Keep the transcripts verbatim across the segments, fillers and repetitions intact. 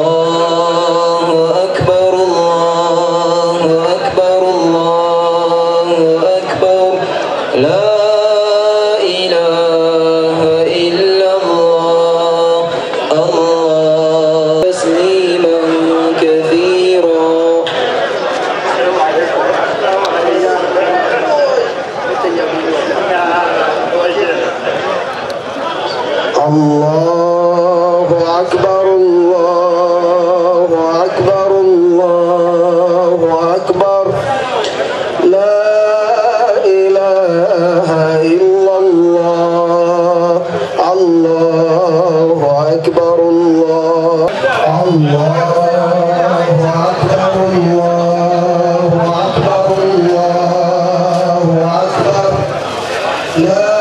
الله أكبر الله أكبر الله أكبر لا إله إلا الله الله تسليما كثيرا. الله أكبر الله أكبر الله أكبر لا إله إلا الله الله أكبر الله الله أكبر الله أكبر الله أكبر لا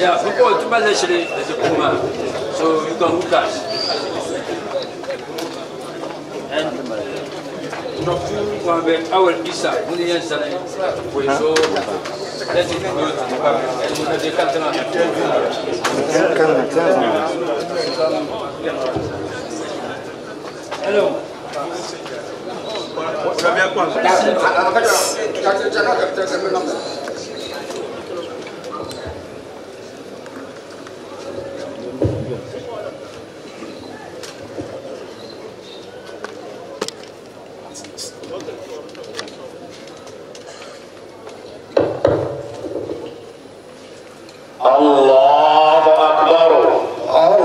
Yeah, football, so you can hook us. Mohamed Awal Isa ŋuni yɛn zani so Hello. الله أكبر الله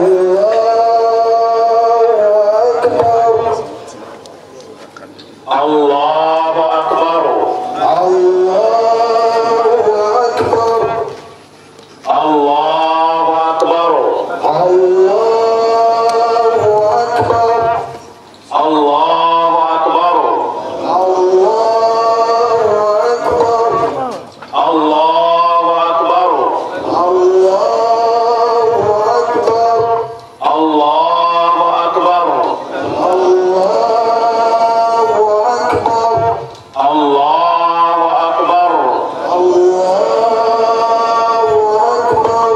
أكبر الله أكبر الله أكبر الله أكبر الله أكبر الله أكبر الله أكبر الله أكبر الله أكبر الله أكبر الله أكبر الله أكبر الله أكبر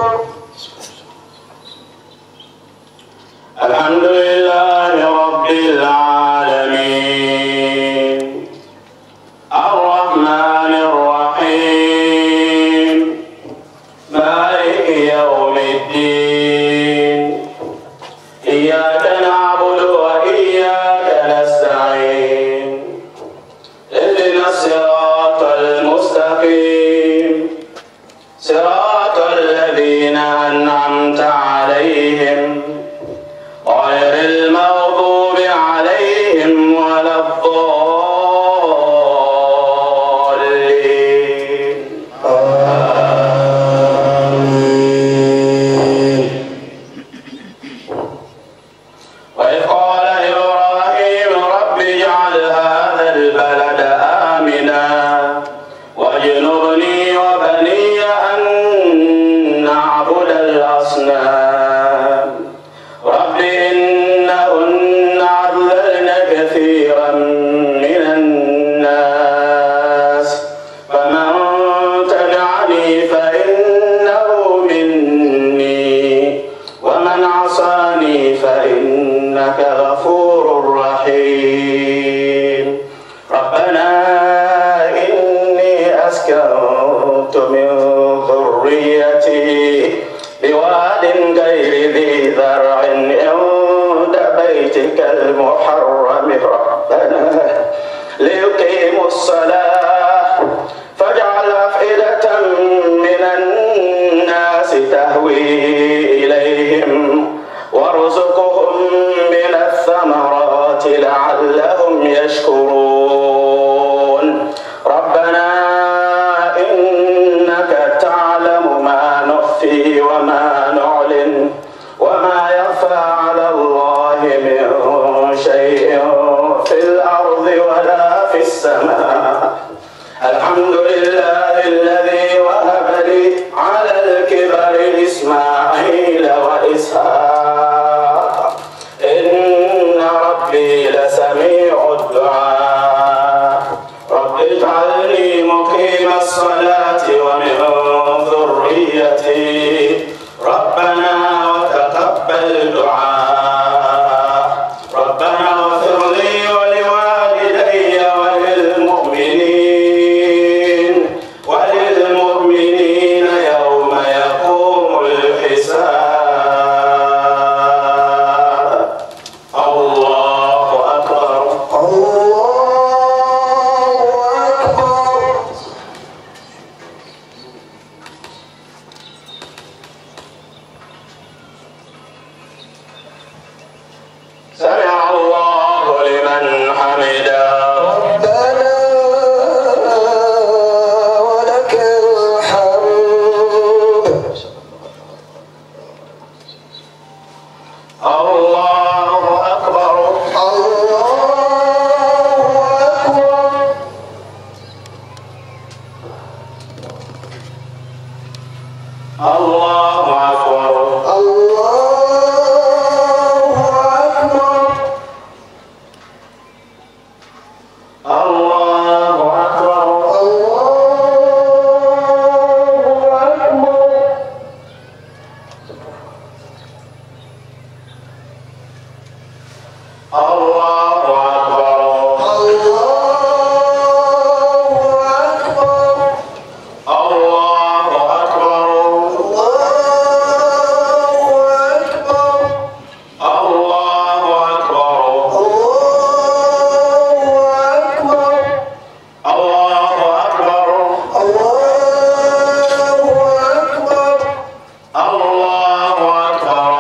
الحمد لله رب العالمين الرحمن الرحيم مالك يوم الدين إياك نعبد وإياك نستعين اهدنا الصراط المستقيم صراط الذين أنعمت عليهم غير المغضوب عليهم ولا الضالين. آمين. وإذ قال إبراهيم رب اجعل هذا البلد آمنا واجنبني وبني أن نعبد الأصنام رب إنهن أضللن كثيرا من الناس فمن تبعني فإنه مني ومن عصاني فإنك غفور رحيم. ربنا إني أسكنت من ذريتي بواد غير ذي زرع عند بيتك المحرم ربنا ليقيموا الصلاة فاجعل أفئدة من الناس تهوي إليهم وارزقهم من الثمرات لعلهم يشكرون. ربنا إنك تعلم ما نخفي وما نعلن وما يخفى على الله من شيء في الأرض ولا في السماء. الحمد لله الذي وهب لي على الكبر إسماعيل وإسحاق إن ربي لسميع الدعاء. رب اجعلني مقيم الصلاة ومن ذريتي ربنا وتقبل دعاء. ربنا اغفر لي ولوالدي وللمؤمنين وللمؤمنين يوم يقوم الحساب. الله أكبر. الله الله أكبر. الله أكبر. الله أكبر. الله أكبر. الله أكبر. الله أكبر. الله أكبر. الله أكبر. الله أكبر.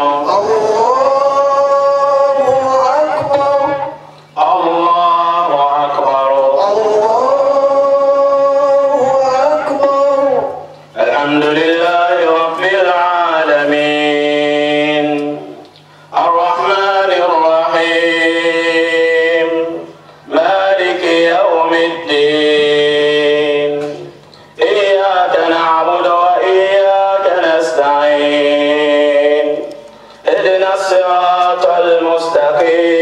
الله أكبر. الله أكبر. الله أكبر. الحمد لله رب العالمين. الرحمن الرحيم. مالك يوم الدين. إياك نعبد وإياك نستعين. اهدنا الصراط المستقيم.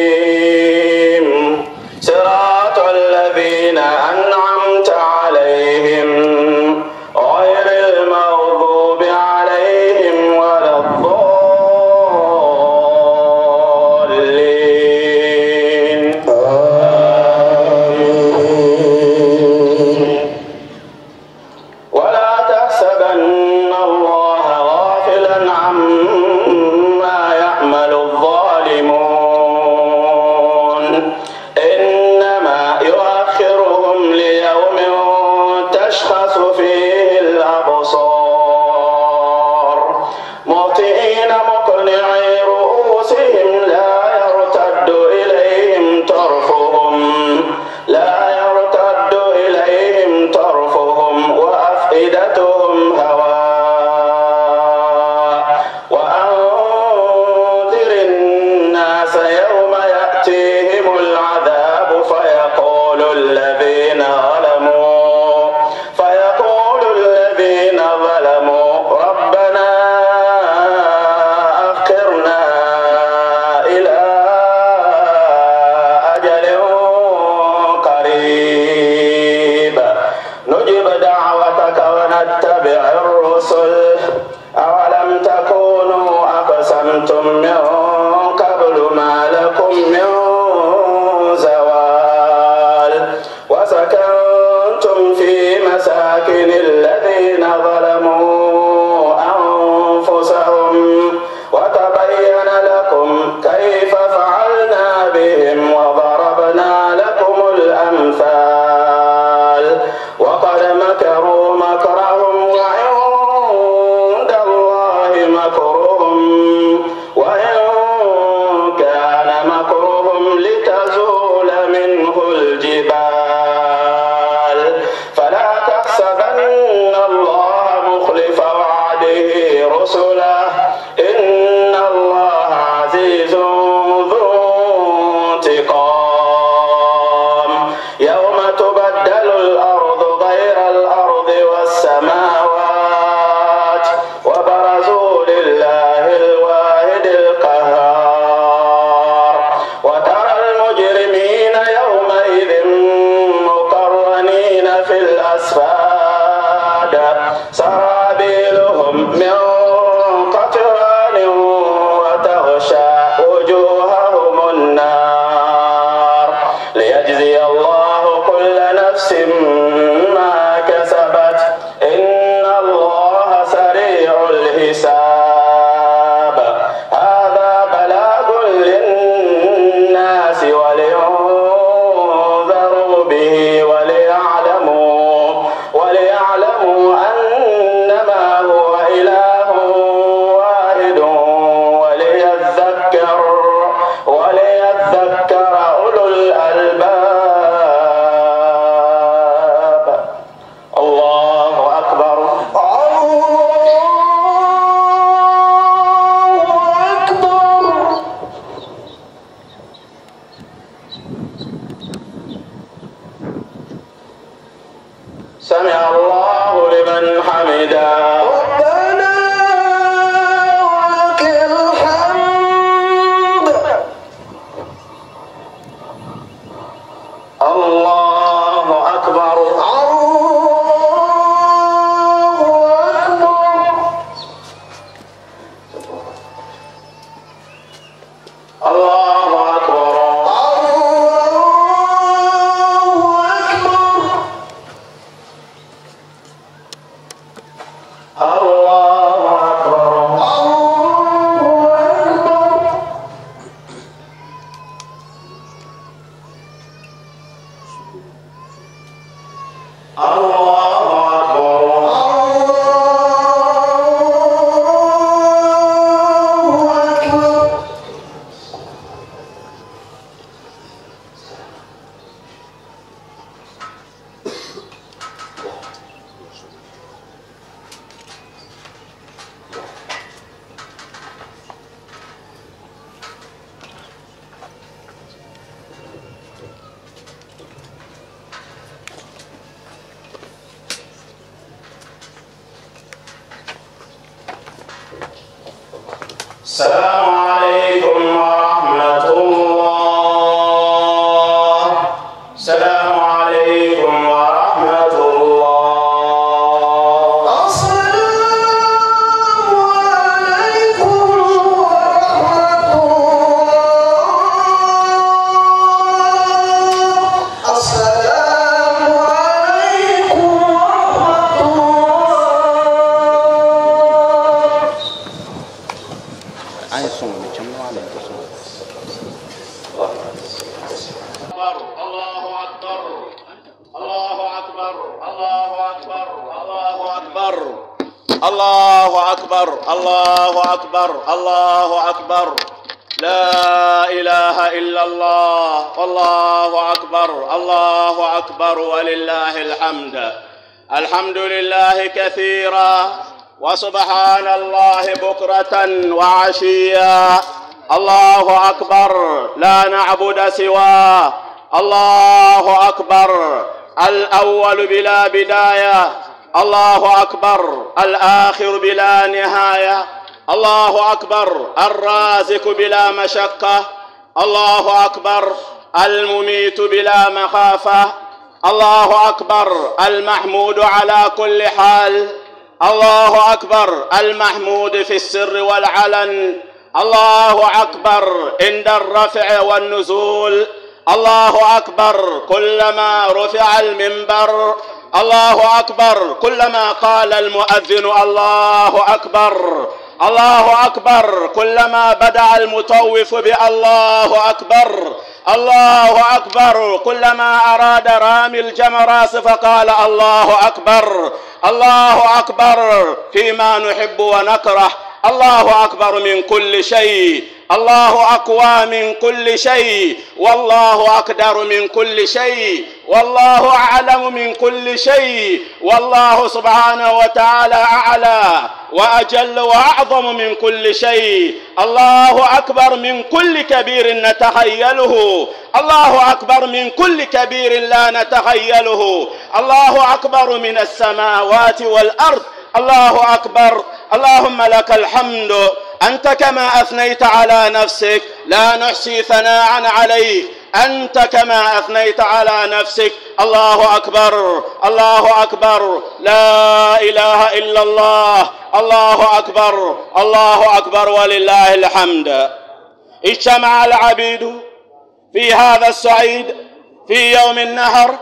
صراط الذين أنعمت عليهم غير المغضوب عليهم ولا الضالين. آمين. ولا تحسبن الله غافلا عما يعمل الظالمون. إنما يؤخرهم ليوم تشخص فيه الأبصار. مهطعين مقنعي رؤوسهم لا يرتد إليهم طرفهم لا يرتد إليهم طرفهم وأفئدتهم هواء. وأنذر الناس يوم يأتيهم العذاب فيقول الذين ظلموا فيقول الذين ظلموا ربنا أخرنا إلى أجل قريب نجب دعوتك ونتبع الرسل. أولم تكونوا أقسمتم من قبل ما لكم من زوال وسكنتم في مساكن الذين ظلموا أنفسهم وتبين لكم كيف فعلنا بهم وضربنا لكم الأمثال وقد مكروا مكرهم وعند الله مكرهم وإن كان مكرهم لتزول منه الجبال. فلا تحسبن الله مخلف وعده رسله إن الله عزيز ذو انتقام. يوم تبدل الأرض غير الأرض والسماوات وبرزوا لله الواحد القهار. وترى المجرمين يومئذ مقرنين في الأصفاد سرابيلهم من قطران وتغشى وجوههم النار ليجزي الله كل نفس ما كسبت إن الله سريع الحساب. هذا بلاغ للناس ولينذروا به وليعلموا وليعلموا أنما هو إله واحد وليذكر وليذكر أولو الألباب. الله أكبر. الله أكبر. سمع الله لمن حمده. ربنا ولك الحمد. الله أكبر. الله أكبر. الله أكبر. الله أكبر. الله أكبر. السلام عليكم ورحمة الله. السلام عليكم ورحمة الله. السلام عليكم ورحمة الله. السلام عليكم ورحمة الله. الله أكبر. الله أكبر. الله أكبر. الله أكبر. الله أكبر. الله أكبر. الله أكبر. لا إله إلا الله. والله أكبر. الله أكبر ولله الحمد. الحمد لله كثيرا وسبحان الله بكرة وعشيا. الله أكبر لا نعبد سواه. الله أكبر الأول بلا بداية. الله أكبر الآخر بلا نهاية. الله أكبر الرازق بلا مشقة. الله أكبر المميت بلا مخافة. الله أكبر المحمود على كل حال. الله أكبر المحمود في السر والعلن. الله أكبر عند الرفع والنزول. الله أكبر كلما رفع المنبر. الله أكبر كلما قال المؤذن الله أكبر. الله أكبر كلما بدأ المطوف بالله أكبر. الله أكبر كلما أراد رامي الجمراس فقال الله أكبر. الله أكبر فيما نحب ونكره. الله أكبر من كل شيء. الله أقوى من كل شيء. والله أقدر من كل شيء. والله أعلم من كل شيء. والله سبحانه وتعالى أعلى وأجل وأعظم من كل شيء. الله أكبر من كل كبير نتخيله. الله أكبر من كل كبير لا نتخيله. الله أكبر من السماوات والأرض. الله أكبر. اللهم لك الحمد أنت كما أثنيت على نفسك، لا نحصي ثناء عليك، أنت كما أثنيت على نفسك. الله أكبر. الله أكبر. لا إله إلا الله. الله أكبر. الله أكبر ولله الحمد. اجتمع العبيد في هذا الصعيد في يوم النهر،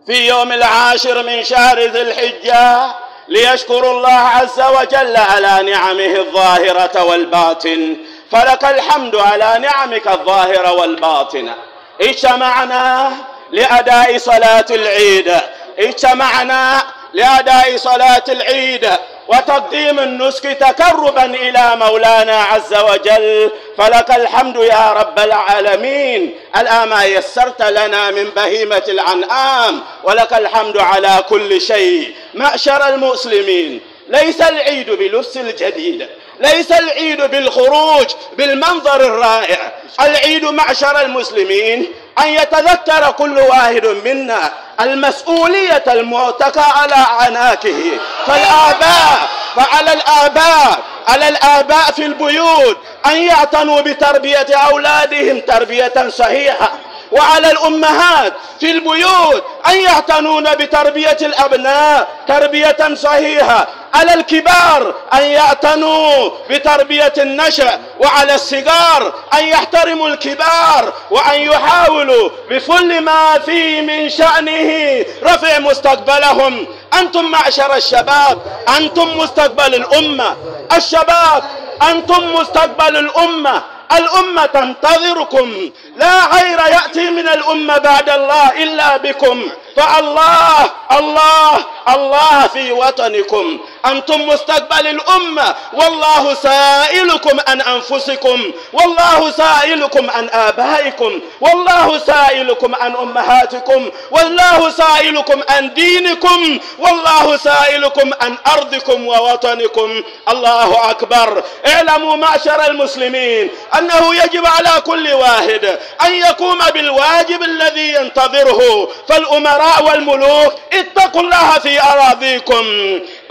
في يوم العاشر من شهر ذي الحجة، ليشكروا الله عز وجل على نعمه الظاهرة والباطن. فلك الحمد على نعمك الظاهرة والباطنة. اجتمعنا لأداء صلاة العيد. اجتمعنا لأداء صلاة العيد وتقديم النسك تقربا إلى مولانا عز وجل. فلك الحمد يا رب العالمين الآن ما يسرت لنا من بهيمة الأنعام، ولك الحمد على كل شيء. معشر المسلمين، ليس العيد بلبس الجديد، ليس العيد بالخروج بالمنظر الرائع. العيد معشر المسلمين أن يتذكر كل واحد منا المسؤولية المعتقى على عناكه. فالآباء فعلى الآباء على الآباء في البيوت أن يعتنوا بتربية أولادهم تربية صحيحة، وعلى الأمهات في البيوت أن يعتنون بتربية الأبناء تربية صحيحة، على الكبار أن يعتنوا بتربية النشأ، وعلى الصغار أن يحترموا الكبار وأن يحاولوا بكل ما فيه من شأنه رفع مستقبلهم. أنتم معشر الشباب، أنتم مستقبل الأمة. الشباب أنتم مستقبل الأمة. الأمة تنتظركم، لا خير يأتي من الأمة بعد الله إلا بكم. فالله الله الله في وطنكم، أنتم مستقبل الأمة، والله سائلكم عن أنفسكم، والله سائلكم عن آبائكم، والله سائلكم عن أمهاتكم، والله سائلكم عن دينكم، والله سائلكم عن أرضكم ووطنكم. الله أكبر. اعلموا معشر المسلمين أنه يجب على كل واحد أن يقوم بالواجب الذي ينتظره. فالأمراء والملوك اتقوا الله في أراضيكم،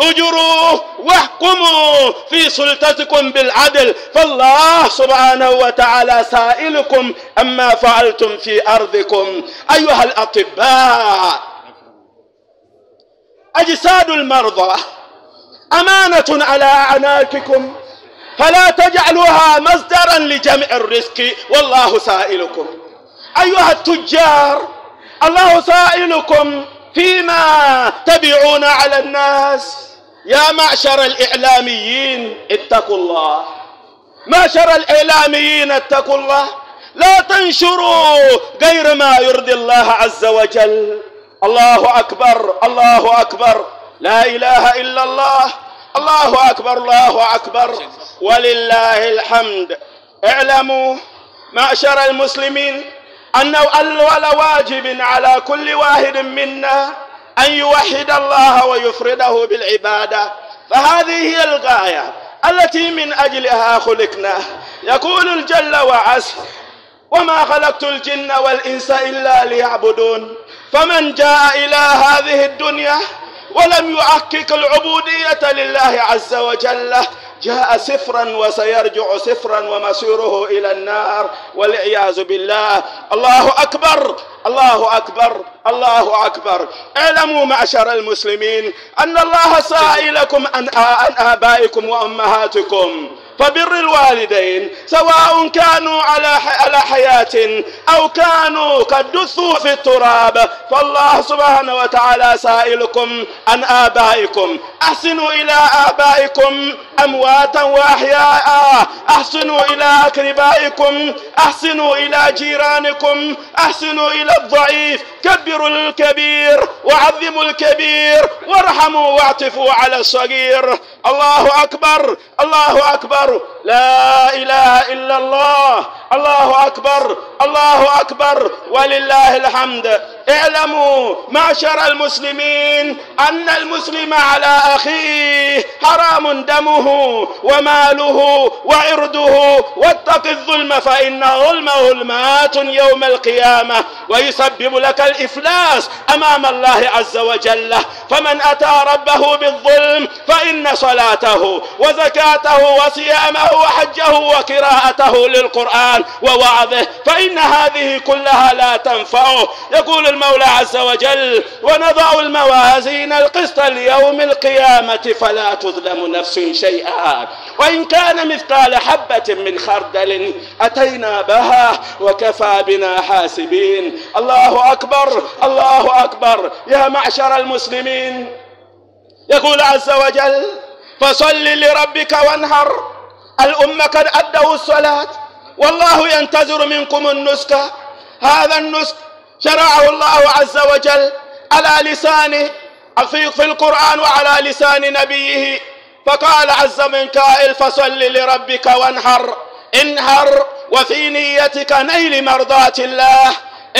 اجروا واحكموا في سلطتكم بالعدل، فالله سبحانه وتعالى سائلكم أما فعلتم في أرضكم. أيها الأطباء، أجساد المرضى أمانة على أعناقكم، فلا تجعلوها مصدرا لجمع الرزق، والله سائلكم. أيها التجار، الله سائلكم فيما تبيعون على الناس. يا معشر الإعلاميين اتقوا الله، معشر الإعلاميين اتقوا الله، لا تنشروا غير ما يرضي الله عز وجل. الله أكبر، الله أكبر، لا إله إلا الله، الله أكبر، الله أكبر، ولله الحمد. اعلموا معشر المسلمين أنه أول واجب على كل واحد منا أن يوحد الله ويفرده بالعبادة، فهذه هي الغاية التي من أجلها خلقنا. يقول الجل وعز: وما خلقت الجن والإنس إلا ليعبدون. فمن جاء إلى هذه الدنيا ولم يحقق العبودية لله عز وجل جاء سفرا وسيرجع سفرا ومصيره إلى النار والعياذ بالله. الله أكبر، الله أكبر، الله أكبر. اعلموا معشر المسلمين أن الله سائلكم عن آبائكم وأمهاتكم، فبر الوالدين سواء كانوا على على حياة أو كانوا قد دثوا في التراب، فالله سبحانه وتعالى سائلكم عن آبائكم. أحسنوا إلى آبائكم أمواتا وأحياء، أحسنوا إلى أقربائكم، أحسنوا إلى جيرانكم، أحسنوا إلى الضعيف، كبروا الكبير وعظموا الكبير، وارحموا واعطفوا على الصغير. الله أكبر، الله أكبر، لا إله إلا الله، الله أكبر، الله أكبر، ولله الحمد. اعلموا معشر المسلمين أن المسلم على أخيه حرام دمه وماله وعرضه، واتق الظلم فإن الظلم ظلمات يوم القيامة ويسبب لك الإفلاس أمام الله عز وجل. فمن أتى ربه بالظلم فإن صلاته وزكاته وصيامه وحجه وقراءته للقرآن ووعظه فإن هذه كلها لا تنفعه. يقول المولى عز وجل: ونضع الموازين القسط ليوم القيامة فلا تظلم نفس شيئا وإن كان مثقال حبة من خردل أتينا بها وكفى بنا حاسبين. الله أكبر، الله أكبر. يا معشر المسلمين، يقول عز وجل: فصل لربك وانحر. الأمة قد أدوا الصلاة والله ينتظر منكم النسك. هذا النسك شرعه الله عز وجل على لسانه في القرآن وعلى لسان نبيه، فقال عز من قائل: فصل لربك وانحر. انحر وفي نيتك نيل مرضاة الله،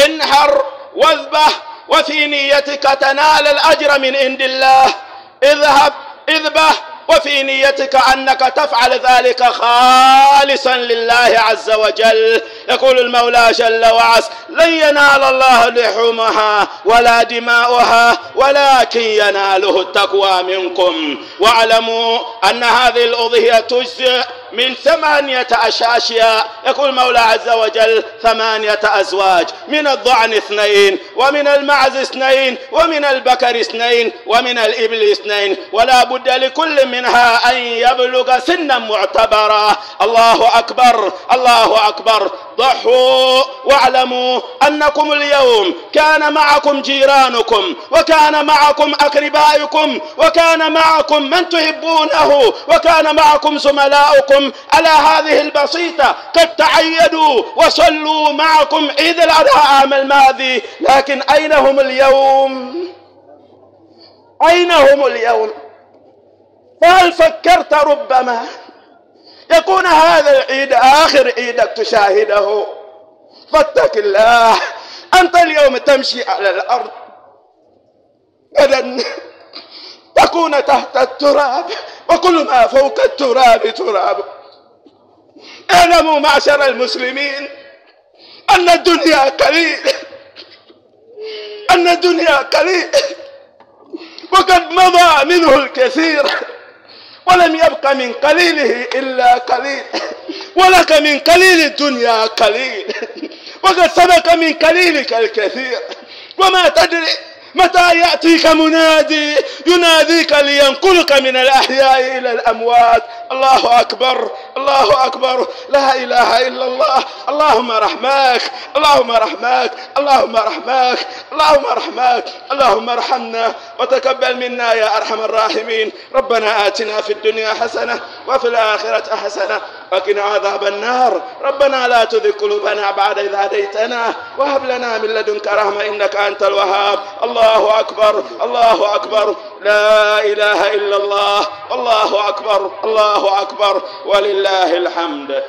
انحر واذبح وفي نيتك تنال الأجر من عند الله، اذهب اذبح وفي نيتك أنك تفعل ذلك خالصا لله عز وجل. يقول المولى جل وعز: لن ينال الله لحومها ولا دماؤها ولكن يناله التقوى منكم. واعلموا أن هذه الأضحية تجزئ من ثمانية أشياء. يقول المولى عز وجل: ثمانية أزواج، من الضأن اثنين، ومن المعز اثنين، ومن البكر اثنين، ومن الإبل اثنين، ولا بد لكل منها أن يبلغ سنا معتبرا. الله أكبر، الله أكبر. ضحوا واعلموا أنكم اليوم كان معكم جيرانكم، وكان معكم أقربائكم، وكان معكم من تحبونه، وكان معكم زملاؤكم على هذه البسيطة، قد تعيدوا وصلوا معكم عيد الأضحى عام الماضي، لكن أين هم اليوم؟ أين هم اليوم؟ فهل فكرت ربما يكون هذا العيد آخر عيدك تشاهده؟ فاتق الله، أنت اليوم تمشي على الأرض، غدا تكون تحت التراب، وكل ما فوق التراب تراب. اعلموا معشر المسلمين أن الدنيا قليل، أن الدنيا قليل، وقد مضى منه الكثير، ولم يبق من قليله إلا قليل، ولك من قليل الدنيا قليل، وقد سبق من قليلك الكثير، وما تدري متى يأتيك منادي يناديك لينقلك من الأحياء إلى الأموات. الله أكبر، الله أكبر، لا إله إلا الله. اللهم رحماك، اللهم رحماك، اللهم رحماك، اللهم رحماك، اللهم ارحمنا وتقبل منا يا أرحم الراحمين. ربنا آتنا في الدنيا حسنة وفي الآخرة حسنة وقنا عذاب النار. ربنا لا تزغ قلوبنا بعد إذ هديتنا وهب لنا من لدنك رحمة إنك أنت الوهاب. الله أكبر، الله أكبر، لا إله إلا الله، الله أكبر، الله أكبر، ولله الحمد.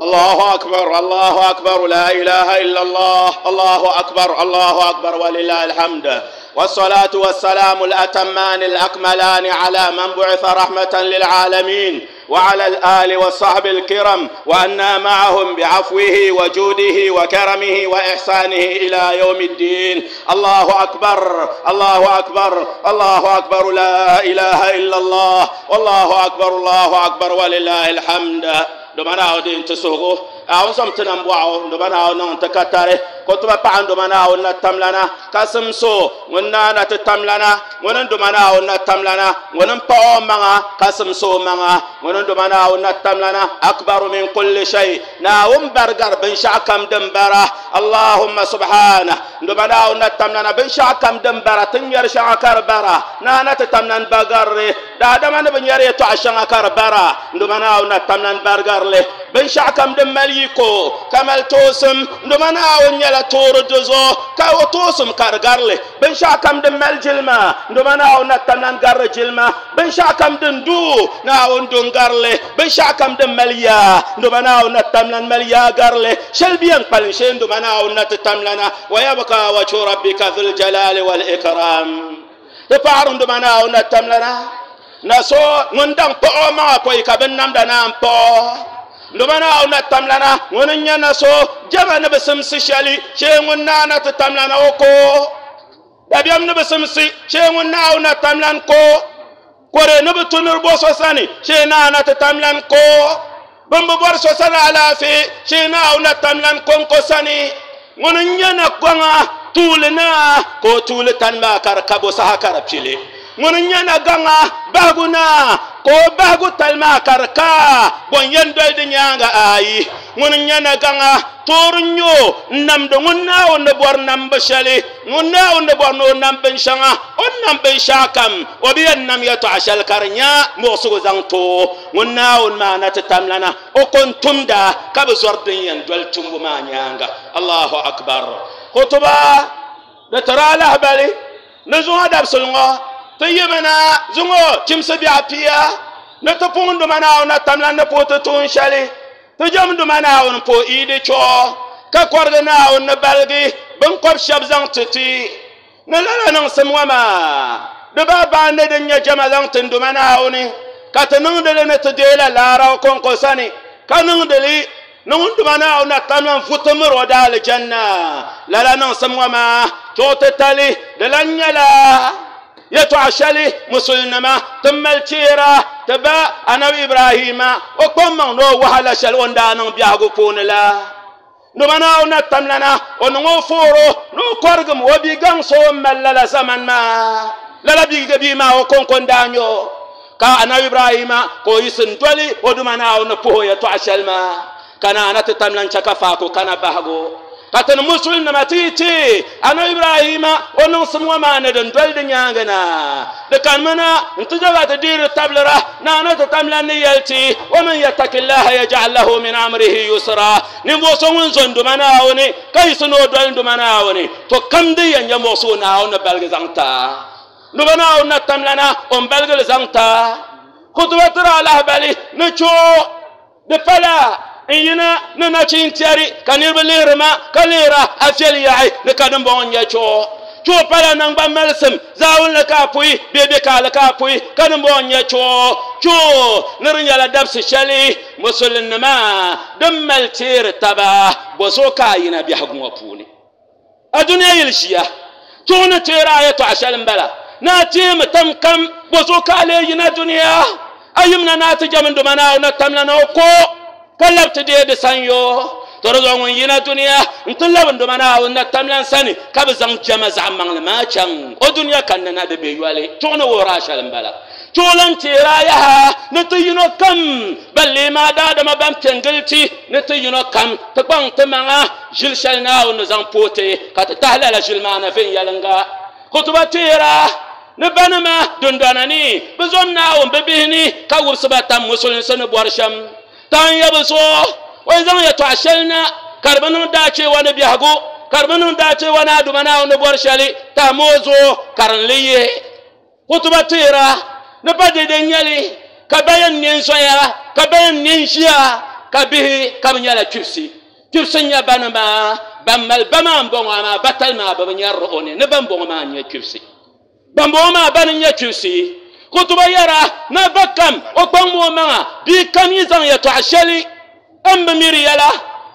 الله أكبر، الله أكبر، لا إله إلا الله، الله أكبر، الله أكبر، ولله الحمد. والصلاة والسلام الأتمان الأكملان على من بعث رحمة للعالمين وعلى الآل والصحب الكرم، وأنا معهم بعفوه وجوده وكرمه وإحسانه إلى يوم الدين. الله أكبر، الله أكبر، الله أكبر، لا إله إلا الله، والله أكبر، الله أكبر، ولله الحمد. Domana o din tusugo awon som tinam bwawo domana o non takatare ko tuba pa domana o na tamlana kasum so ngonna na tamlana ngonon domana o na tamlana ngonon pa o manga kasum so manga ngonon domana o na tamlana akbaru min kulli shay na um bargar bin shakam dambara allahumma subhana domana o na tamlana bin shakam dambara tin yar shakar bara na na tamlan bagarre da dama ne bin yare to ashakar bara domana o na tamlan bargar bin shakam din maliko kamal tosum ndumana on nyala toro dozo ka o tosum kargarle bin shakam din maljilma ndumana on tamnan gar jilma bin shakam din du na on dun garle bin shakam din maliya ndumana on tamnan maliya garle shalbiyan palin shen ndumana on tamlana wa yabqa wajhu rabbika dhul jalali wal ikram tafaru ndumana on tamlana na so ngundang po ma ko ikabin namda na po ndumana ona tamlana ngono nyana so jama ne besimsi shali she ngonna na to tamlana oko dabiam ne besimsi she ngonna ona tamlan ko kore ne betunur bo so sani she na na to tamlan ko bambu bor so sana ala fi she na ona tamlan kon ko sani ngono nyana kwanga tulna ko tultan ma kar kabo sahakar pile ngono nyana ganga baguna ko bagu talma karka bon yendo de nyanga ayi ngono nyana ganga tornyo namdo ngonna on bor namba shali ngonna on bor no namben shanga on namben shakam obiyan nam yato ashal karnya mo sugo zangto ngonna on mana tamlana o kon tumda kabe zordin yan dol tumbu ma nyanga Allahu akbar khutuba da tara lahbali nazu hadab sulngo تيمنا زمو كم سبيع بيا نتفون دمنا ونتملا نبوت تونشالي تجمع دمنا ونبو إيدي شو كقرنا ونبلغي بنقب شب زانتتي نلالا نسمع ما Di ba ne din nyɛ jama zaŋ tin duma Naawuni ka ti niŋdili ni ti deela laara konko sani ka niŋdili ni ŋun duma Naawuni tamlan futi miri o daali janna lala niŋsim ŋɔ maa chuɣu titali di lan nyɛla yɛtɔɣa shɛli musulinima ti mali cheera ti ba anabi Ibrahima o kpaŋ maŋ ni o wahala shɛli o ni daa niŋ biɛhigu puuni la duma Naawuni tamlana o niŋ o fooro ni o kɔrigim o bia gaŋsi o mali lala zaman maa lala bia bia maa o konko n daa nyɛ o ka anabi Ibrahima ka o yiɣisi n doli o duma Naawuni puhi o yɛtɔɣa shɛli maa ka naana ti tamlan chɛ ka faako kana bahigu ka ti ni musulinima ti yi ti anabi Ibrahima o niŋsim ŋɔ maa ni din doli di nyaanga na di kanimi na n ti jaba ti deeri tabilira naana ti tamlan ni yɛli ti wa man yattaqillaha yaj'al lahu min amrihi yusra ninvuɣu so ŋun zo n duma Naawuni ka yiɣisi ni o doli n duma Naawuni to kam din yɛn nyɛ muɣusi o Naawuni ni baligi zaŋ ta duma Naawuni na tamlana o n baligili zaŋ ta kutuba tiri alahibali ni chuɣu di pala n yina ni nachin tɛri ka niriba lihiri ma ka lihira a fiɛli yaɣi ni ka dimbɔŋɔ n nyɛ chuɣu chuɣu pala nangban malisim zaawuni ka a puyi bee bɛ kaali ka a puyi ka dimbɔŋɔ n nyɛ chuɣu chuɣu ni di nyɛla dabisi shɛli musulinnima din mali teeri taba bɔzuɣu ka a yina biɛhigu ŋɔ puuni a duniya yili ʒiya chuɣu ni teeri a yɛtɔɣa shɛli n bala ni a teemi tam kam bɔzuɣu ka a lee yina duniya a yimna ni a ti jɛm n duma Naawuni tamla na o ko ka labi ti deei di sanyo to di zuɣu ŋun yina duniya n ti labi n duma Naawuni na tamlan sani ka bi zaŋ jɛma zaɣ maŋli maa chaŋ o duniya kanni na di be yɔli chuɣu ni wuhiri a shɛli n bala chuɣu lan teeri a yaha ni ti yino kam ban lee maa daadama ban piɛ n gili ti ni ti yino kam ti kpaŋ ti maŋa ʒili shɛli Naawuni ni zaŋ pooti ka ti tahi lala ʒili maa na viɛnyɛlinga kutuba teera ni banima dundɔna ni bi zom Naawuni bi bihi ni ka wubisi ba tam musulinsi ni bɔri shɛm tan ya bi zuɣu o yi zaŋ yɛtɔɣa shɛli na ka di bi niŋ daacheewa ni biɛhigu ka di bi niŋ daacheewa ni aduma Naawuni ni bɔri shɛli tahimi o zuɣu ka din li yihi kutuba teera ni pa dede nyɛli ka ba yɛn nɛ n zoya ka ba yɛn nɛ n ʒiya ka bihi ka bi nyɛla kpibisi kpibisi n nyɛ banima ban mali ba maa n bɔŋɔ amaa batali maa bi bi nyɛrili o ni ni ban bɔŋɔ maa n nyɛ kpibisi ban bɔŋɔ maa bani n nyɛ kpibisi kutuba yɛra na ba kam o kpaŋmi o maŋa bia kam yi zaŋ yɛtɔɣa shɛli n bi miri yɛla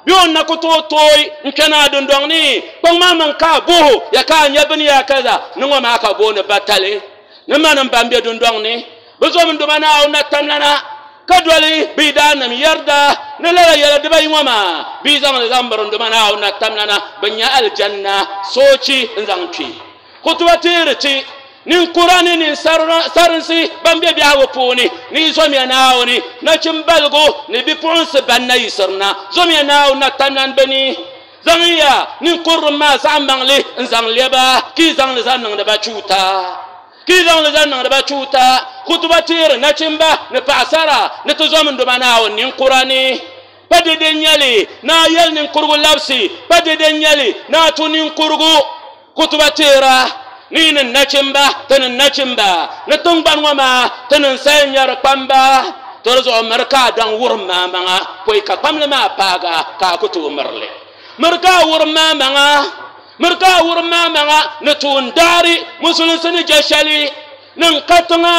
bee o na ku tooi tooi n kpɛna a dundɔŋ ni kpaŋ maa maŋ ka a boho ya ka a nyɛ bini yaa kaza ni ŋɔ maa ka booni batali ni manim ban be dundɔŋ ni bi zom n duma Naawuni na tamlana ka doli bi daanim yɛrida ni lala yɛla dibayi ŋɔ maa bi zaŋli zaŋ biri n duma Naawuni na tamlana bi nyɛ alijanna soochi n zaŋ kpi kutuba teeri ti ninkura ni ninsarinsi ban be biɛhigu puuni ni zomiya Naawuni nachimbaligu ni bipuɣunsi ban na yiɣisirina zomiya Naawuni na tamlan bini zaŋya ninkurim maa zaɣ maŋli n zaŋ lɛba ka yi zaŋli zaŋ niŋdi ba chuuta ka yi zaŋli zaŋ niŋdi ba chuuta kutuba teeri nachimba ni paɣasara ni ti zom n duma Naawuni ninkura ni pa dede nyɛli ni a yɛli ninkurugu labisi pa dede nyɛli ni a tu ninkurugu kutuba teera ni ni nachimba ti ni nachimba ni tingbani ŋɔ maa ti ni saya nyɛri kpamba to di zuɣu miri ka a daŋ wurim maa maŋa pɔi ka kpamli maa paaga ka a ku tooi mirili miri ka a wurim maa maŋa miri ka a wurim maa maŋa ni tuun daari musulinsi ni je shɛli ni n ka tiŋa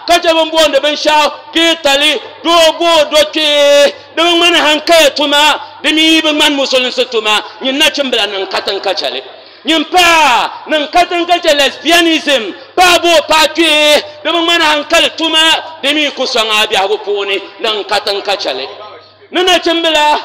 ka chɛ bin booni binshaɣu geetali doo boo do kpee di bi ŋmani hankaya tuma di mi bi ŋmani musulinsi tuma nyin nachimbila ni n ka tiŋ ka chɛli nyin paa ni n ka tiŋ ka chɛ lesbianism paa boo paa kpee di bi ŋmani hankali tuma di mi ku sɔŋ a biɛhigu puuni ni n ka tiŋ ka chɛli ni nachimbila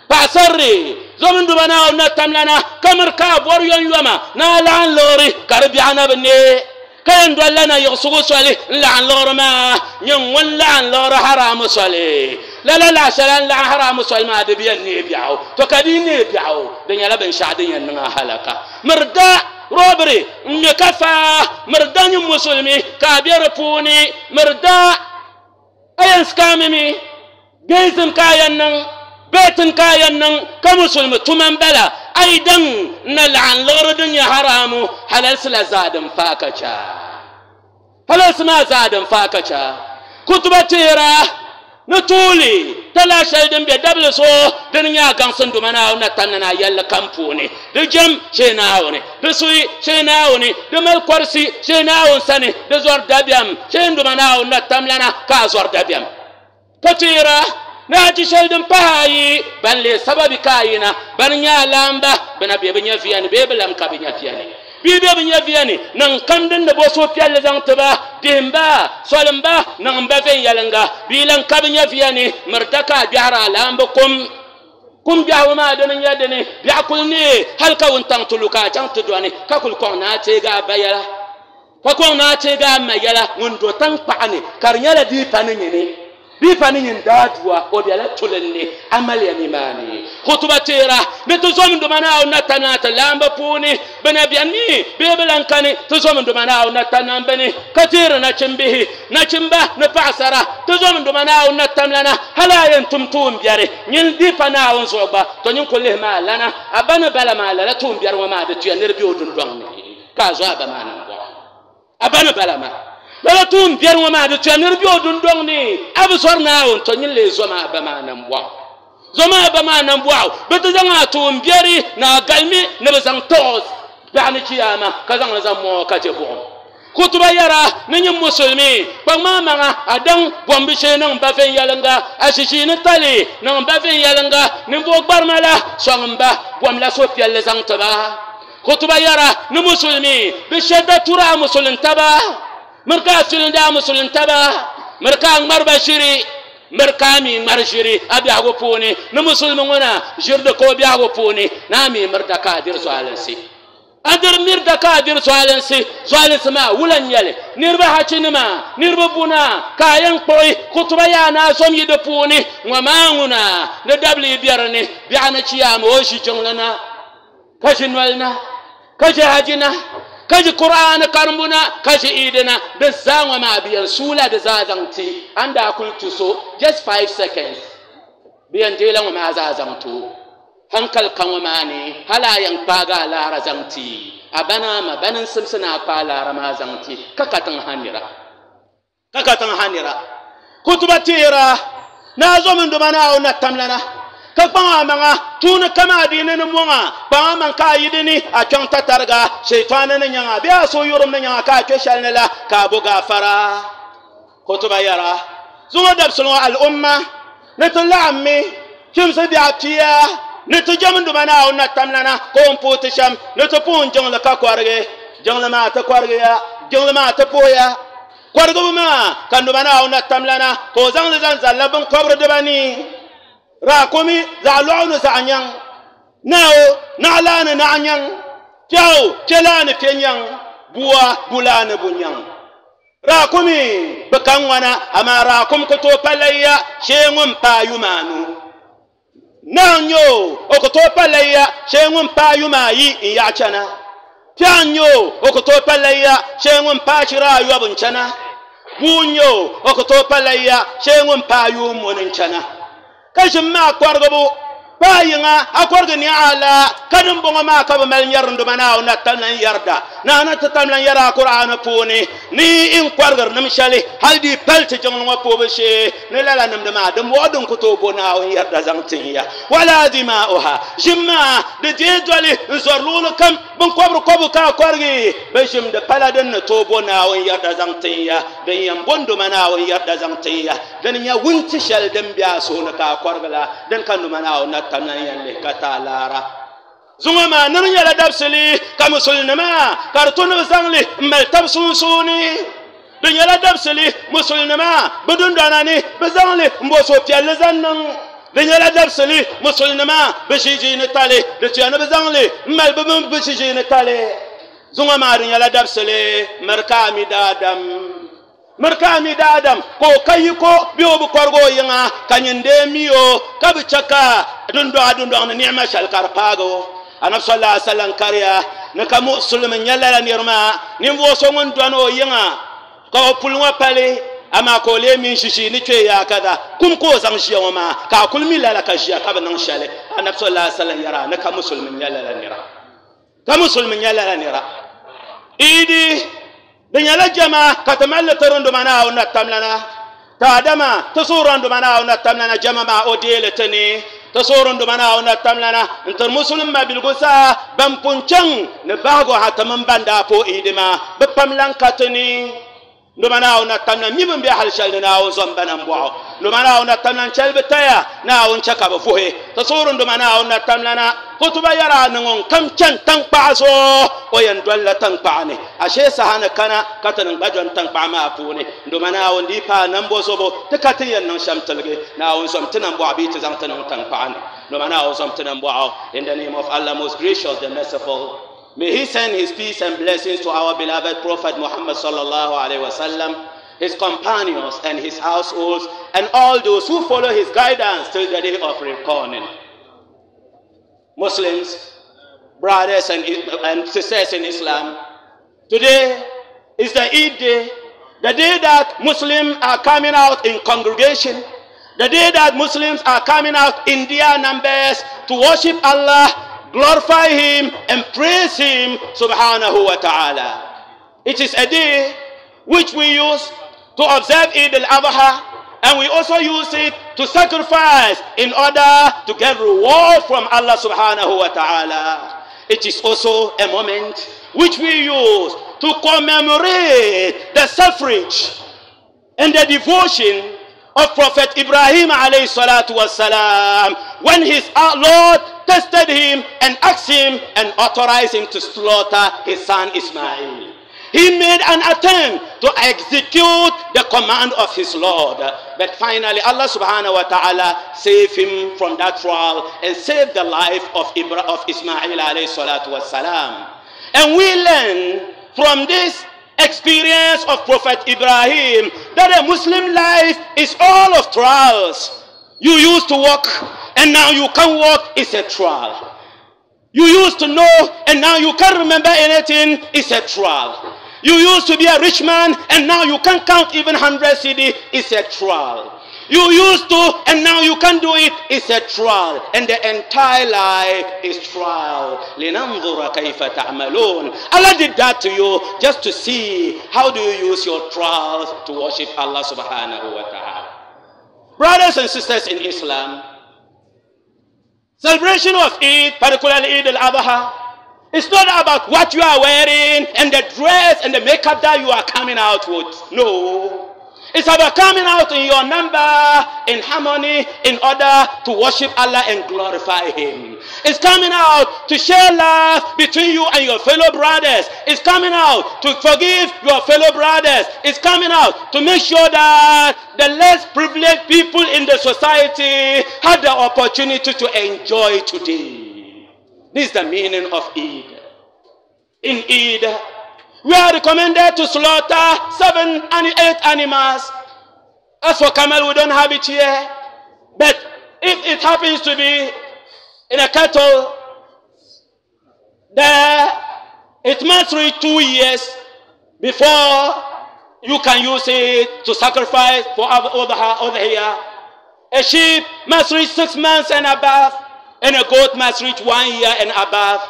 paɣasarili zom n duma Naawuni na tamlana ka miri ka a bɔri yɔnyɔma ni a laɣim liɣiri ka di biɛɣu na bi nee ka yɛn dolila na yiɣisigu soli n laɣim liɣiri maa nyɛ ŋun laɣim liɣiri haramu soli lala laɣ shɛli n laɣim haramu soli maa di bi yɛn nee biɛɣu to ka di nee biɛɣu di nyɛla binshaɣu din yɛn niŋ a halaka miri da robiri n ŋmɛ ka faa miri da nyɛ musulimi ka a bɛ di puuni miri da a yɛn sikaamimi gayism ka a yɛn niŋ beetin ka a yɛn niŋ ka musulimi tuma n bala a yi daŋ na laɣim liɣiri din nyɛ haramu halalsi la zaa din faa ka cha halalsi maa zaa din faa ka cha kutuba teera Ni tuuli tala shɛli din be dabili so dini nyɛ a gaŋsi nduma Naawuni na tamna na yɛlli kam puuni di jɛm shee Naawuni di suhi shee Naawuni di mali kɔrisi shee Naawuni sani di zɔri dabiɛm shee nduma Naawuni na tamlana ka a zɔri dabiɛm ka teera ni a ti shɛli din pahi ayi ban leei sababi ka a yina ban nyɛ alaamba bina be bi nyɛviya ni bee bi lam ka bi nyɛviya ni bii be bi nyɛviya ni niŋ kam din ni bo suhupiɛlli zaŋ ti ba dihimba solimba niŋ ba viɛnyɛlinga bii lan ka bi nyɛviya ni mirita ka a biɛhiri alaamba kum kum biɛhigu maa dini nyɛ dini biɛɣu kuli nee hali ka wuntaŋ ti lu ka a chaŋ ti dɔni ka kuli kɔŋ ni a teegi a ba yɛla ka kɔŋ ni a teegi a ma yɛla ŋun do tankpaɣu ni ka di nyɛla dii pa ni nyini bii pa ni nyin daadua o bɛla tulin ni amaliya nimaani khutuba teera ni ti zom duma Naawuni na tana ti laamba puuni bina bɛni mi bee bi lan kani ti zom duma Naawuni na tana bini ka teeri nachimbihi nachimba ni paɣasara ti zom duma Naawuni na tamlana hali a yɛn tum tuun biɛri nyin dii pa Naawuni zuɣu gba to nyin kuli lihi maa lana a ba ni bala maa lala tuun biɛri ŋɔ maa di tuya ni di bɛ o dundɔŋ ni ka a zo a ba maa niŋ a ba ni bala maa lala tuun biɛri ŋɔ maa di tuya ni di bɛ o dundɔŋ ni a bi zɔri Naawuni to nyin lee zo maa ba maa nambɔɣu zo maa ba maa nambɔɣu bi ti zaŋ a tuun biɛri ni a galimi ni bi zaŋ tɔɣo biɛɣu ni chiyaama ka zaŋ li zaŋ mɔɔ ka chɛ buɣum kutuba yɛra ni nyin musulmi kpaŋ maa maŋa a daŋ bɔmbi shee niŋ ba viɛnyɛlinga a shishiini tali niŋ ba viɛnyɛlinga ninvuɣu gbarima la sɔŋ n ba bɔm la suhupiɛlli zaŋ ti ba kutuba yɛra ni musulmi bi shɛda tura a musulintaba miri ka a filindi a musulintaba miri ka a ŋmari ba ʒiri miri ka a mi ŋmari ʒiri a biɛhigu puuni ni musulmi ŋɔ na ʒiri di ka o biɛhigu puuni ni a mi miri da ka a diri zualinsi a diri miri da ka a diri zualinsi zualinsi maa wula n nyɛli niriba hachinima niriba buna ka a yɛn kpuɣi kutuba yaa ni a zom yi di puuni ŋɔ maa ŋuna ni dabili biɛri ni biɛɣu ni chiyaama o ʒi jiŋli na ka ʒi noli na ka ʒi haji na ka ʒi Qur'an karimbu na ka ʒi Eid na di zaa ŋɔ maa bi yɛn suula di zaa zaŋ ti an daa kuli tu so just five seconds bi yɛn deela ŋɔ maa zaa zaŋ ti o hankali ka ŋɔ maa ni hali a yɛn kpaagi a laara zaŋ ti a bana ma bani n simsi ni a kpaai laara maa zaŋ ti ka katiŋ ha nira ka katiŋ ha nira kutuba teera naa zom n duma Naawuni na tamlana ka kpaŋ a maŋa tuuni kama adiini ni mɔŋa kpaŋ a maŋ ka a yi dini a kpɛŋ tatariga sheitaani ni nyaŋa bee a suhuyurim ni nyaŋa ka a kpɛ shɛli ni la ka a bo gaafara kutuba yɛra zuŋɔ dabisili ŋɔ al'umma ni ti laɣimmi chimsi biɛɣu pia ni ti jɛm nduma Naawuni na tamlana ka o ni puhi ti shɛm ni ti puhi jiŋli ka kɔrigi jiŋli maa ti kɔrigiya jiŋli maa ti puhiya kɔrigibu maa ka nduma Naawuni na tamlana ka o zaŋli zaŋ zalila binkɔbiri dibanii raakumi zaɣ lɔɣu ni zaɣ nyaŋ nao naɣalaa ni naɣ nyaŋ piɛɣu piɛlaa ni piɛ nyaŋ bua bulaa ni bu nyaŋ raakumi bi ka ŋwana amaa raakum ku tooi pa layiya shee ŋun paai yuma anu naɣ n nyɛ o o ku tooi pa layiya shee ŋun paai yuma ayi n yaɣa chana piɛɣu n nyɛ o o ku tooi pa layiya shee ŋun paai shiri ayɔbu n chana bua n nyɛ o o ku tooi pa layiya shee ŋun paai yuun moni n chana ka ʒim maa kɔrigibu paa yiŋa a kɔrigi ni a la ka din bɔŋɔ maa ka bi mali nyɛri nduma Naawuni na tamlan yɛrida naana ti tamlan yɛra a Qur'ani puuni ni n kɔrigiri nim shɛli hali di pali ti jiŋli ŋɔ puhibu shee ni lala nimdi maa din bɔŋɔ din ku tooi bo Naawuni yɛrida zaŋ tin ya wala dimaa'uha ʒim maa di deei doli n zɔri luɣuli kam binkɔbiri kɔbu ka a kɔrigi bi ʒim di pala din ni tooi bo Naawuni yɛrida zaŋ tin ya din yɛn bo nduma Naawuni yɛrida zaŋ tin ya din nyɛ wunti shɛli din be a suhu ni ka a kɔrigi la din ka nduma Naawuni na tamlan yɛn lihi ka ti a laara zuŋɔ maa ni di nyɛla dabisili ka musulinima ka di tu ni bi zaŋli n mali tabi sunsuuni di nyɛla dabisili musulinima bi dundɔna ni bi zaŋli n bo suhupiɛlli zaŋ niŋ di nyɛla dabisili musulinima bi ʒiʒiini tali di tuya ni bi zaŋli n mali bi mini bi ʒiʒiini tali zuŋɔ maa di nyɛla dabisili miri ka a mi daadam miri ka a mi daadam ka o ka yiko bee o bi kɔrigi o yiŋa ka nyin dee mi o ka bi chɛ ka dundɔɣu dundɔŋ ni niɛma shɛli ka di paagi o anabi sallallahu alaihi wasallam kariya ni ka musulimi nyɛ lala niri maa ninvuɣu so ŋun dɔni o yiŋa ka o puli ŋɔ pali amaa ka o lee min ʒiʒii ni kpee yaa kada kum ka o zaŋ ʒiya ŋɔ maa ka a kuli mi lala ka ʒiya ka bi niŋ shɛli anabi sallallahu alaihi wasallam yɛra ni ka musulimi nyɛ lala nira ka musulimi nyɛ lala nira idi di nyɛla jama ka ti mali li tiri nduma Naawuni na tamlana Taadama tisuran dumana na tamlana jama o deletani tisuran dumana na tamlana inter muslim ma bilgusa bam punchang ne bago hataman banda po idima be pamlan katani dumana na tamna mi bam be hal shalna o zambana mbo dumana na tamlan chalbe taya na on chaka ba fuhe tisuran dumana na tamlana kutuba yara ngon kam chan tan paaso o yan dalla tan paane ashe sahana kana katan bajon tan paama afune dumana on di pa nambo sobo te katiyan nan shamtalge na on som tinan bo abi te zang tan tan paane dumana on som tinan bo. In the name of Allah, most gracious, the merciful, may he send his peace and blessings to our beloved Prophet Muhammad sallallahu alaihi wasallam, his companions and his households, and all those who follow his guidance till the day of reckoning. Muslims, brothers and, and sisters in Islam, today is the Eid day, the day that Muslims are coming out in congregation, the day that Muslims are coming out in their numbers to worship Allah, glorify Him, and praise Him subhanahu wa ta'ala. It is a day which we use to observe Eid al-Adha, and we also use it to sacrifice in order to get reward from Allah subhanahu wa ta'ala. It is also a moment which we use to commemorate the suffrage and the devotion of Prophet Ibrahim alayhi salatu wasalam, when his Lord tested him and asked him and authorized him to slaughter his son Ismail. He made an attempt to execute the command of his Lord. But finally, Allah subhanahu wa ta'ala saved him from that trial and saved the life of, Ibra of Ismail alayhi salatu wasalam. And we learn from this experience of Prophet Ibrahim that a Muslim life is all of trials. You used to walk and now you can't walk, it's a trial. You used to know and now you can't remember anything, it's a trial. You used to be a rich man and now you can't count even one hundred C D, it's a trial. You used to and now you can't do it, it's a trial. And the entire life is trial. لِنَنْظُرَ كَيْفَ تَعْمَلُونَ. Allah did that to you just to see how do you use your trials to worship Allah subhanahu wa ta'ala. Brothers and sisters in Islam, celebration of Eid, particularly Eid al-Adha, it's not about what you are wearing and the dress and the makeup that you are coming out with. No. It's about coming out in your number, in harmony, in order to worship Allah and glorify Him. It's coming out to share love between you and your fellow brothers. It's coming out to forgive your fellow brothers. It's coming out to make sure that the less privileged people in the society have the opportunity to enjoy today. This is the meaning of Eid. In Eid, we are recommended to slaughter seven and eight animals. As for camel, we don't have it here. But if it happens to be in a cattle, there it must reach two years before you can use it to sacrifice for over here. A sheep must reach six months and above, and a goat must reach one year and above.